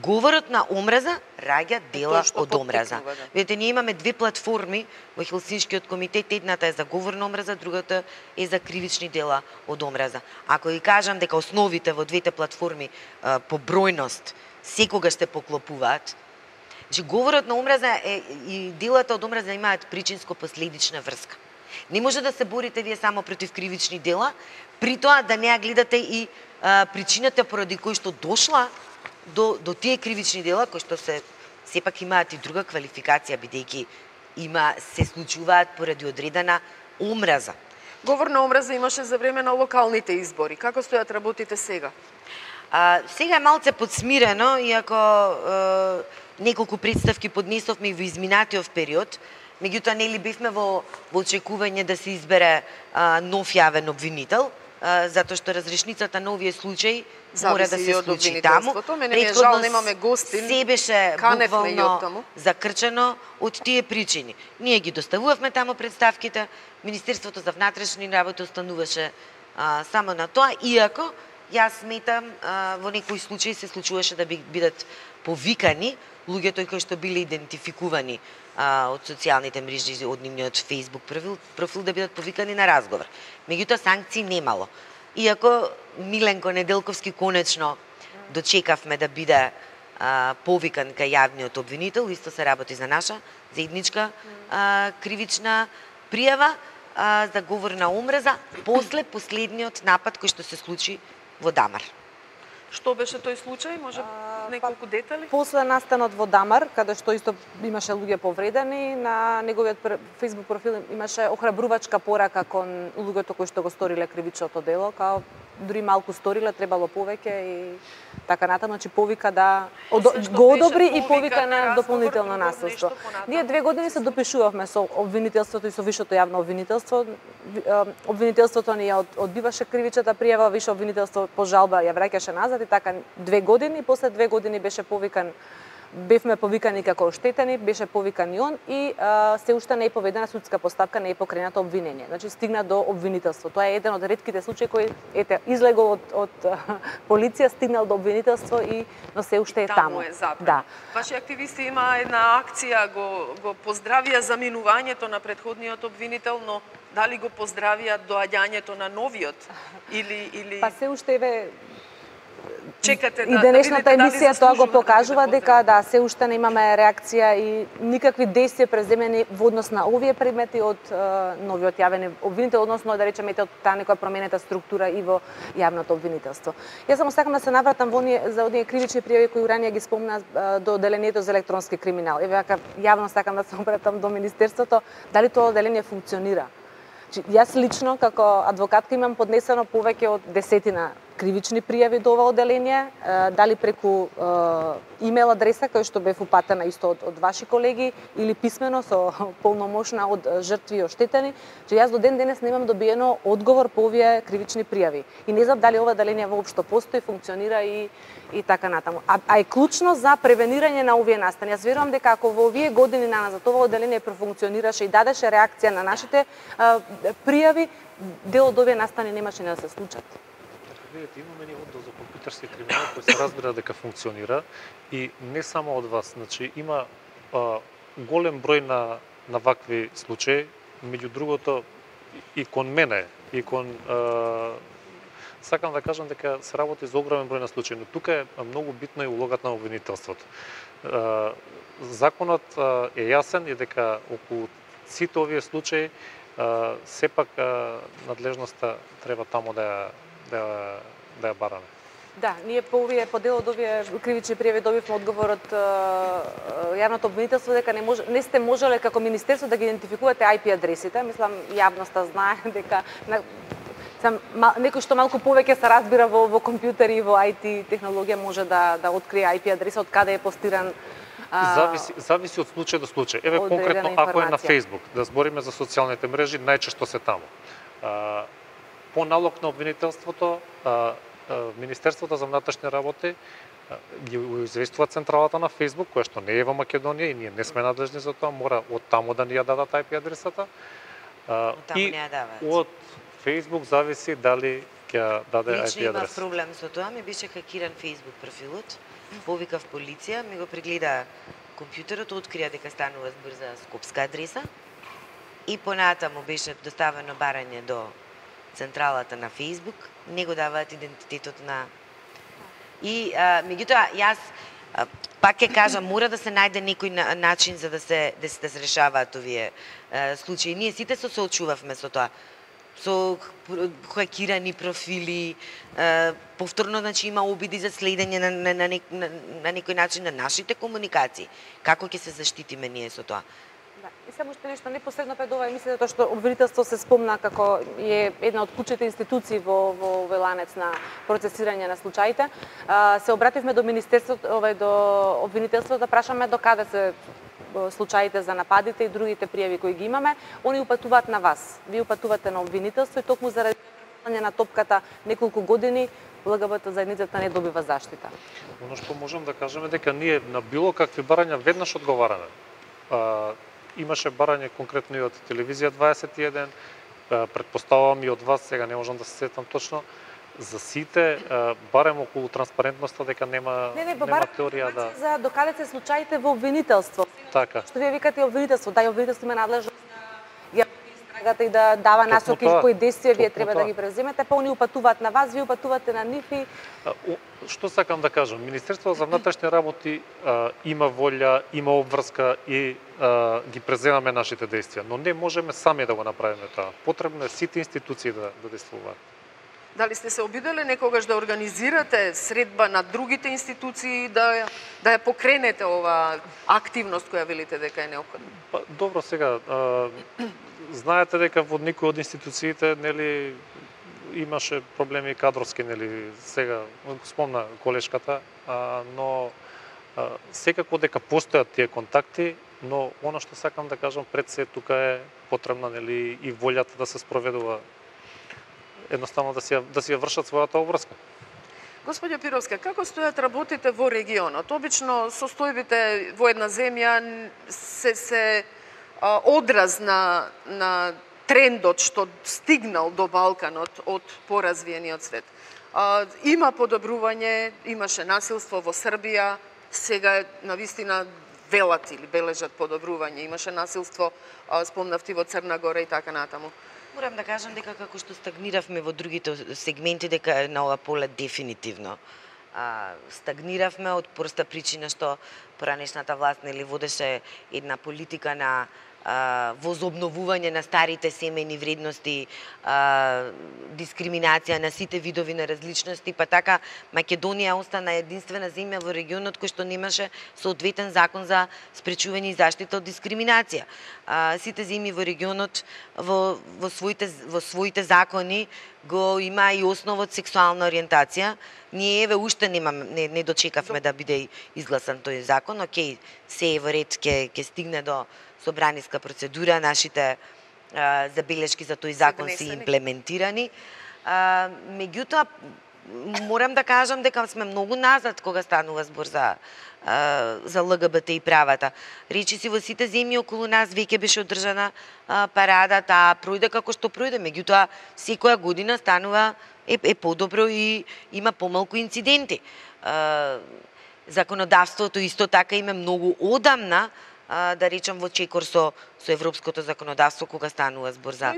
Говорот на омраза раѓа дела од омраза. Видите, ние имаме две платформи во Хелсиншкиот комитет, едната е за говор на омраза, другата е за кривични дела од омраза. Ако ви кажам дека основите во двете платформи по бројност секогаш се поклопуваат, значи говорот на омраза и делата од омраза имаат причинско-последична врска. Не може да се борите вие само против кривични дела, при тоа да не ја гледате и причината поради кој што дошла до тие кривични дела, кои што сепак имаат и друга квалификација, бидејќи се случуваат поради одредена омраза. Говор на омраза имаше за време на локалните избори. Како стојат работите сега? Сега е малце подсмирено, иако неколку представки поднесовме и во изминатиот период, меѓутоа нели бевме во очекување да се избере нов јавен обвинител, затоа што разрешницата на овие случаи мора да се случи таму. Жал, немаме гостин. Се беше буквално закрчено од тие причини. Ние ги доставувавме таму представките, Министерството за внатрешни работи остануваше само на тоа, иако јас сметам во некои случаи се случуваше да бидат повикани луѓето кои што биле идентификувани од социјалните мрежи, од нивниот Facebook профил да бидат повикани на разговор. Меѓутоа санкции немало. Иако Миленко Неделковски конечно дочекавме да биде повикан кај јавниот обвинител, исто се работи за наша заедничка кривична пријава за говор на омраза после последниот напад кој што се случи во Дамар. Што беше тој случај? Може неколку детали? После настанот во Дамар, каде што исто имаше луѓе повредени, на неговиот Facebook профил имаше охрабрувачка порака кон луѓето кои што го сториле кривичното дело, као дури малку сториле, требало повеќе и така натаму, значи повика да го одобри и повика на дополнително насилство. Ние 2 години се допишувавме со обвинителството и со Вишето јавно обвинителство. Обвинителството ни ја одбиваше кривичната пријава, Висше обвинителство по жалба ја враќаше назад и така 2 години, после 2 години бевме повикани како оштетени, беше повикан и он и се уште не е поведена судска постапка, не е покрената обвинение. Значи стигна до обвинителство. Тоа е еден од ретките случаи кој излегол од полиција, стигнал до обвинителство но се уште е таму. Да. Ваши активисти има една акција, го поздравија заминувањето на претходниот обвинител, но дали го поздравија доаѓањето на новиот или Па се уште чекате и денешната емисија тоа го покажува дека се уште немаме реакција и никакви действија преземени во однос на овие предмети од новиот јавен обвинител, односно да речеме од таа некоја променета структура и во јавното обвинителство. Јас само сакам да се навратам за оние кривични пријави кои ранее ги спомна до одделението за електронски криминал. Еве вака јавно сакам да се обратам до министерството, дали тоа одделение функционира. Јас лично како адвокатка имам поднесено повеќе од 10 кривични пријави до ова одделение, дали преку имейл адреса кој што бев упатена исто од ваши колеги или писмено со полномошна од жртви и оштетени, че јас до ден денес немам добиено одговор по овие кривични пријави. И не знам дали ова одделение воопшто постои, функционира и така натаму. А е клучно за превенирање на овие настани. Јас верувам дека ако во овие години назад ова одделение профункционираше и дадеше реакција на нашите пријави, дел од овие настани немаше да се случат. Видите, имаме ни оддел за компјутерски криминал кој се разбира дека функционира и не само од вас, значи има голем број на вакви случаи, меѓу другото и кон мене, и кон сакам да кажам дека се работи за огромен број на случаи, но тука е многу битна и улогата на обвинителството. Законот е јасен и дека околу сите овие случаи сепак надлежноста треба таму да ја бараме. Да, ние по дел од овие кривични пријави добивме одговор од јавното обвинителство дека не сте можеле како министерство да ги идентификувате IP адресите. Мислам, јавноста знае дека некој што малку повеќе се разбира во компјутери и во IT технологија може да открие IP адреса од каде е постиран. Зависи од случај до случај. Еве конкретно ако е на Facebook, да збориме за социјалните мрежи, најчесто се таму. По налог на обвинителството Министерството за внатрешни работи ги известува централата на Facebook, која што не е во Македонија и ние не сме надлежни за тоа, мора од таму да ни ја дадат IP адресата. Таму не ја даваат. Од Facebook зависи дали ќе даде IP адрес. Лично имав проблем со тоа, ми беше хакиран Facebook профилот, повикав полиција, ми го прегледа компјутерот, открија дека станува збор за скопска адреса и понатаму беше доставено барање до централата на Facebook, не го даваат идентитетот на... И, меѓутоа, јас пак ќе кажам, мора да се најде некој начин за да се решаваат овие случаи. Ние сите се соочувавме со тоа, со хакирани профили, повторно, значи, има обиди за следење на некој начин на нашите комуникации. Како ќе се заштитиме ние со тоа? Да, и само уште нешто непосредно пред ова емисија, тоа што обвинителство се спомна како е една од клучните институции во ланец на процесирање на случаите. Се обративме до министерството, до обвинителството да прашаме до каде се случаите за нападите и другите пријави кои ги имаме. Они упатуваат на вас. Ви упатувате на обвинителство и токму заради препрашање на топката неколку години ЛГБТ заедницата не добива заштита. Оно што можам да кажеме дека ние на било какви барања веднаш одговараме. Имаше барање конкретно и од телевизија 21, претпоставувам и од вас, сега не можам да се сетам точно, за сите, барем околу транспарентноста дека нема теорија да... За докаде се случаите во обвинителство. Така. Што вие викате обвинителство, да, и обвинителство има надлежност да истрагата и да дава насоки кои действија вие треба да ги преземете, па они упатуваат на вас, вие упатувате на нив и... Што сакам да кажам, Министерството за внатрешни работи има волја, има обврска и ги преземаме нашите действија, но не можеме сами да го направиме тоа. Потребно е сите институции да действуваат. Дали сте се обидели некогаш да организирате средба на другите институции да ја покренете ова активност која велите дека е неопходна? Добро, сега знаете дека во некои од институциите, нели, имаше проблеми кадровски, нели, сега спомна колешката, но секако дека постојат тие контакти, но она што сакам да кажам пред се тука е потребна, нели, и волјата да се спроведува, едноставно да си ја вршат својата обврска. Господјо Пировска, како стојат работите во регионот? Обично состојбите во една земја се одраз на трендот што стигнал до Балканот од поразвиениот свет. Има подобрување, имаше насилство во Србија, сега навистина велат или бележат подобрување. Имаше насилство, спомнавти, во Црна Гора и така натаму. Морам да кажам дека како што стагниравме во другите сегменти, дека на ова поле дефинитивно стагниравме од проста причина што поранешната власт нели водеше една политика на возобновување на старите семејни вредности, дискриминација на сите видови на различности, па така Македонија остана единствена земја во регионот кој што немаше соодветен закон за спречување и заштита од дискриминација. Сите земји во регионот во своите закони го има и основот сексуална ориентација. Ние еве уште не дочекавме да биде изгласан тој закон. Океј, се е во ред, ќе стигне до собраниска процедура, нашите забелешки за тој закон се имплементирани. Меѓутоа, морам да кажам дека сме многу назад кога станува збор за ЛГБТ и правата. Речиси во сите земји околу нас веќе беше одржана парада, таа пројде како што пројде, меѓутоа секоја година станува е подобро и има помалку инциденти. Законодавството исто така има многу одамна, да речам, во чекор со европското законодавство кога станува збор за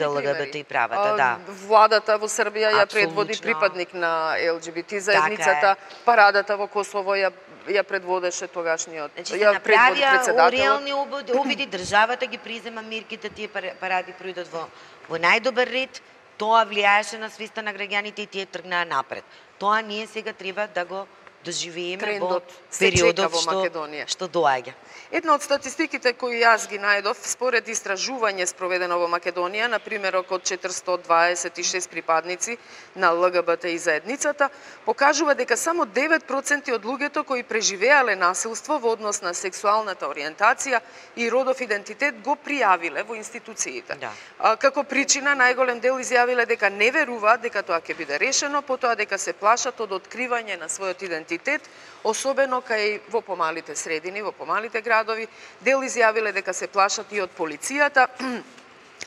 ЛГБТ и правата. Да. Владата во Србија ја предводи припадник на ЛГБТ заедницата, парадата во Косово ја предводеше тогашниот, ја предводи председателот. Реални обиди, државата ги презема мерките, тие паради пројдат во најдобар ред, тоа влијаеше на свеста на граѓаните и тие тргнаа напред. Тоа ние сега треба да го доживееме во трендот се чека периодот во Македонија. што доаѓа. Една од статистиките кои јас ги најдов, според истражување спроведено во Македонија, на примерок од 426 припадници на ЛГБТ и заедницата, покажува дека само 9% од луѓето кои преживеале насилство во однос на сексуалната ориентација и родов идентитет го пријавиле во институциите. Да. Како причина, најголем дел изјавиле дека не веруваат дека тоа ќе биде решено, потоа дека се плашат од откривање на својот идентитет, особено кај во помалите средини, во помалите градови. Дел изјавиле дека се плашат и од полицијата,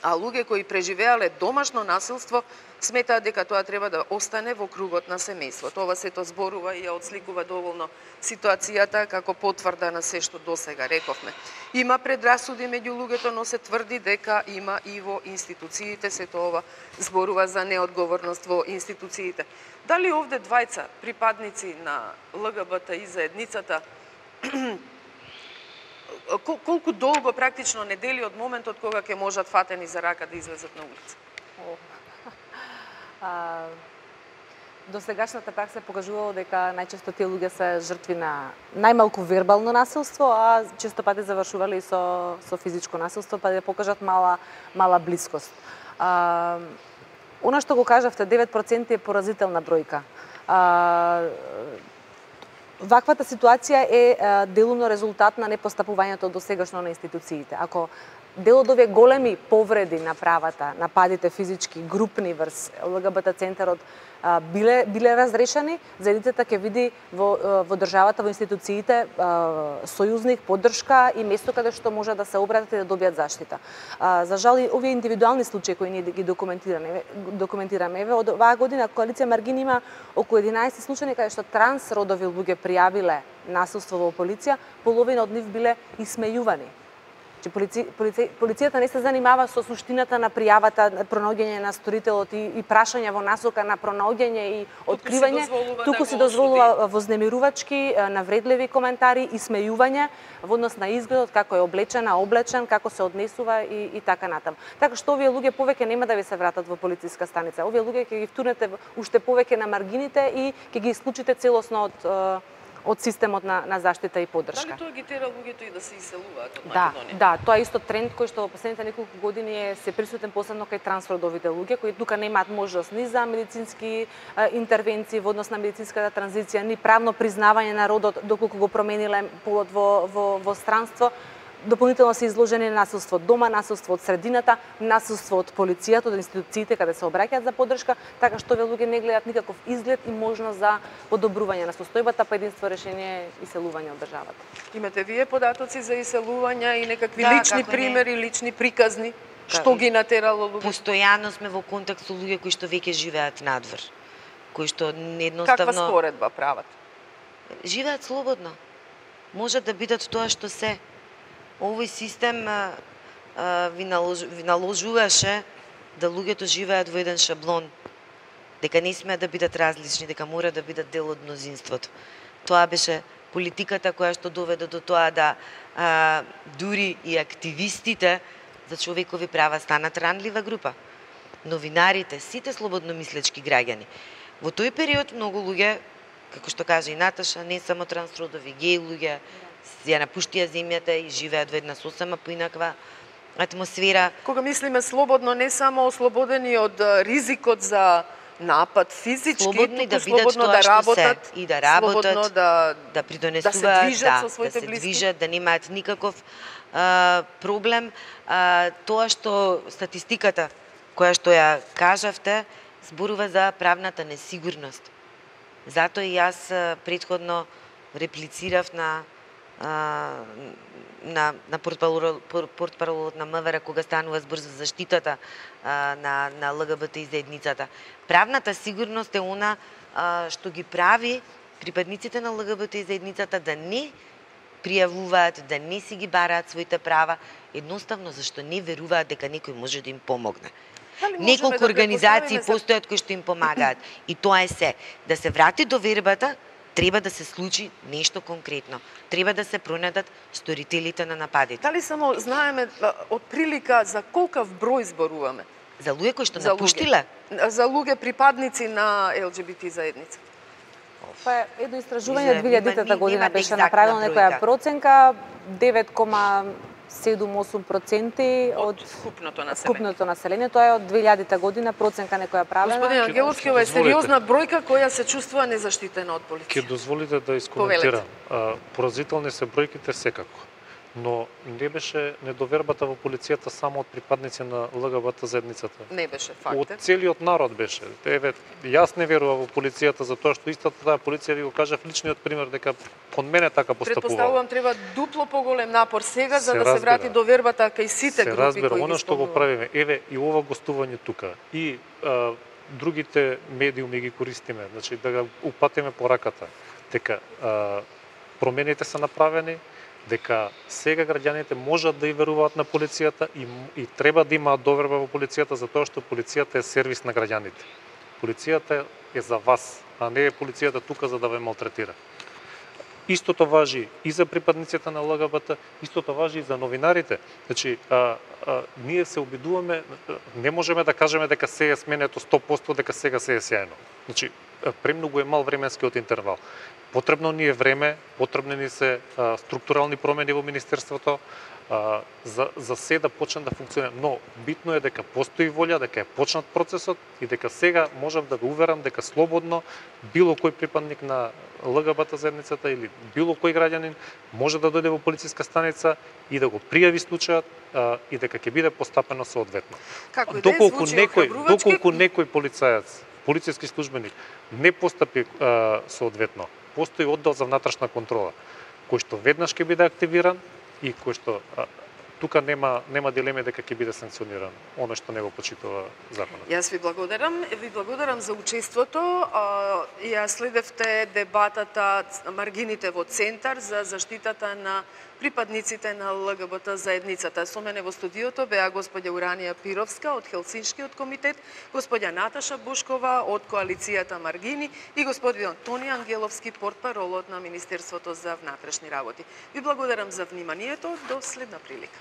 а луѓе кои преживеале домашно насилство сметаат дека тоа треба да остане во кругот на семејството. Ова сето зборува и ја отсликува доволно ситуацијата како потврда на се што досега рековме. Има предрасуди меѓу луѓето, но се тврди дека има и во институциите, сето ова зборува за неодговорност во институциите. Дали овде двајца припадници на ЛГБТ и заедницата колку долго практично недели од моментот кога ќе можат фатени за рака да излезат на улица? Досегашната пракса покажувала дека најчесто тие луѓе се жртви на најмалку вербално насилство, а често пати завршувале и со физичко насилство, па да покажат мала блискост. Она што го кажавте, 9% е поразителна бројка. Ваквата ситуација е делумно резултат на непостапувањето досегашно на институциите. Ако дел од овие големи повреди на правата, нападите физички, групни врз ЛГБТ центарот биле разрешени, заедницата ќе види во државата, во институциите сојузник, поддршка и место каде што може да се обратат и да добијат заштита. За жал и овие индивидуални случаи кои ние ги документираме, еве од оваа година коалиција Маргин има околу 11 случаи каде што трансродови луѓе пријавиле насилство во полиција, половина од нив биле исмејувани. Полицијата не се занимава со суштината на пријавата, пронаоѓање на сторителот и прашање во насока на пронаоѓање и откривање, туку се дозволува вознемирувачки, навредливи коментари, исмејување во однос на изгледот, како е облечена, облечен, како се однесува и така натаму. Така што овие луѓе повеќе нема да ви се вратат во полициска станица. Овие луѓе ќе ги втурнете уште повеќе на маргините и ќе ги исклучите целосно од системот на заштита и поддршка. Дали тоа ги тера луѓето и да се иселуваат од Македонија? Да, тоа е исто тренд кој што во последните неколку години е се присутен посебно кај трансродовите луѓе кои тука немаат можност ни за медицински интервенции во однос на медицинската транзиција, ни правно признавање на родот доколку го промениле полот во странство. Дополнително се изложени на насилство од дома, насилство од средината, насилство од полицијата, од институциите каде се обраќаат за поддршка, така што овие луѓе не гледаат никаков изглед и можност за подобрување на состојбата, па единство решение е иселување од државата. Имате вие податоци за иселувања и некакви лични примери, лични приказни? Што ги натерало луѓе? Постојано сме во контакт со луѓе кои што веќе живеат надвор, кои што едноставно... Каква споредба прават? Живеат слободно. Можат да бидат тоа што се. Овој систем ви наложуваше да луѓето живеат во еден шаблон, дека не смеат да бидат различни, дека мора да бидат дел од мнозинството. Тоа беше политиката која што доведе до тоа да дури и активистите за човекови права станат ранлива група. Новинарите, сите слободно мислечки граѓани. Во тој период многу луѓе, како што кажа и Наташа, не само трансродови, геј луѓе, ја напуштија земјата и живеат во една сосема поинаква атмосфера. Кога мислиме слободно, не само ослободени од ризикот за напад физички, слободни да бидат слободно тоа да работат, и да работат, да придонесуваат, да се движат со своите блиски, да се движат, да немаат никаков проблем. Тоа што статистиката која што ја кажавте зборува за правната несигурност. Затоа и јас претходно реплицирав на портпаролот на МВР кога станува збор за заштитата на ЛГБТ и заедницата. Правната сигурност е она што ги прави припадниците на ЛГБТ и заедницата да не пријавуваат, да не си ги бараат своите права, едноставно зашто не веруваат дека некој може да им помогне. Неколку организации постојат кои што им помагаат и тоа е се. Да се врати до вербата, треба да се случи нешто конкретно. Треба да се пронајдат сторителите на нападите. Дали само знаеме од прилика за колкав број зборуваме? За луѓе кои што напуштиле? За луѓе припадници на ЛГБТ заедница. Па едно истражување За- 2000-та година немате беше екзактна направено некоја бројка. проценка 9,7-8% од Вкупното население. вкупното население. Тоа е од 2000-та година проценка некоја правена. Господин Ангеловски, ова е сериозна бројка која се чувствува незаштитена од Ќе полиција. дозволите да искоментирам. Поразителни се бројките секако. Но не беше недовербата во полицијата само од припадници на ЛГБТ заедницата. Не беше Од факт. целиот народ беше. Еве, јас не верувам во полицијата затоа што истата таа полиција ви го кажав личниот пример дека кон мене така постапува. Предпоставувам треба дупло поголем напор сега за Се да се разбира. врати довербата кај сите Се групи разбира, кои она ги што го спомнувам. правиме, еве и ова гостување тука, и другите медиуми ги користиме, значи да го упатиме пораката, дека промените се направени, дека сега граѓаните можат да и веруваат на полицијата и треба да имаат доверба во полицијата затоа што полицијата е сервис на граѓаните. Полицијата е за вас, а не е полицијата тука за да ве малтретира. Истото важи и за припадниците на ЛГБТ, истото важи и за новинарите. Значи, ние се обидуваме, не можеме да кажеме дека се е сменето 100%, дека сега се е сјајно. Значи, премногу е мал временскиот интервал. Потребно ни е време, потребни ни се структурални промени во Министерството, за се да почне да функционира. Но битно е дека постои волја, дека е почнат процесот и дека сега можам да ве уверам дека слободно било кој припадник на ЛГБТ заедницата или било кој граѓанин може да дојде во полициска станица и да го пријави случајот и дека ќе биде постапено соодветно. Како и да е, звучи охрабрувачки. Доколку некој полицаец, полициски службеник не постапи соодветно, постои оддел за внатрешна контрола, кој што веднаш ќе биде активиран и кој што тука нема дилеме дека ќе биде санкциониран оно што не го почитува законот. Јас ви благодарам за учеството. Ја следевте дебатата Маргините во центар за заштитата на припадниците на ЛГБТ заедницата. Со мене во студиото беа господја Уранија Пировска од Хелсиншкиот комитет, господја Наташа Бушкова од коалицијата Маргини и господин Тони Ангеловски, портпаролот на Министерството за внатрешни работи. Ви благодарам за вниманието, до следна прилика.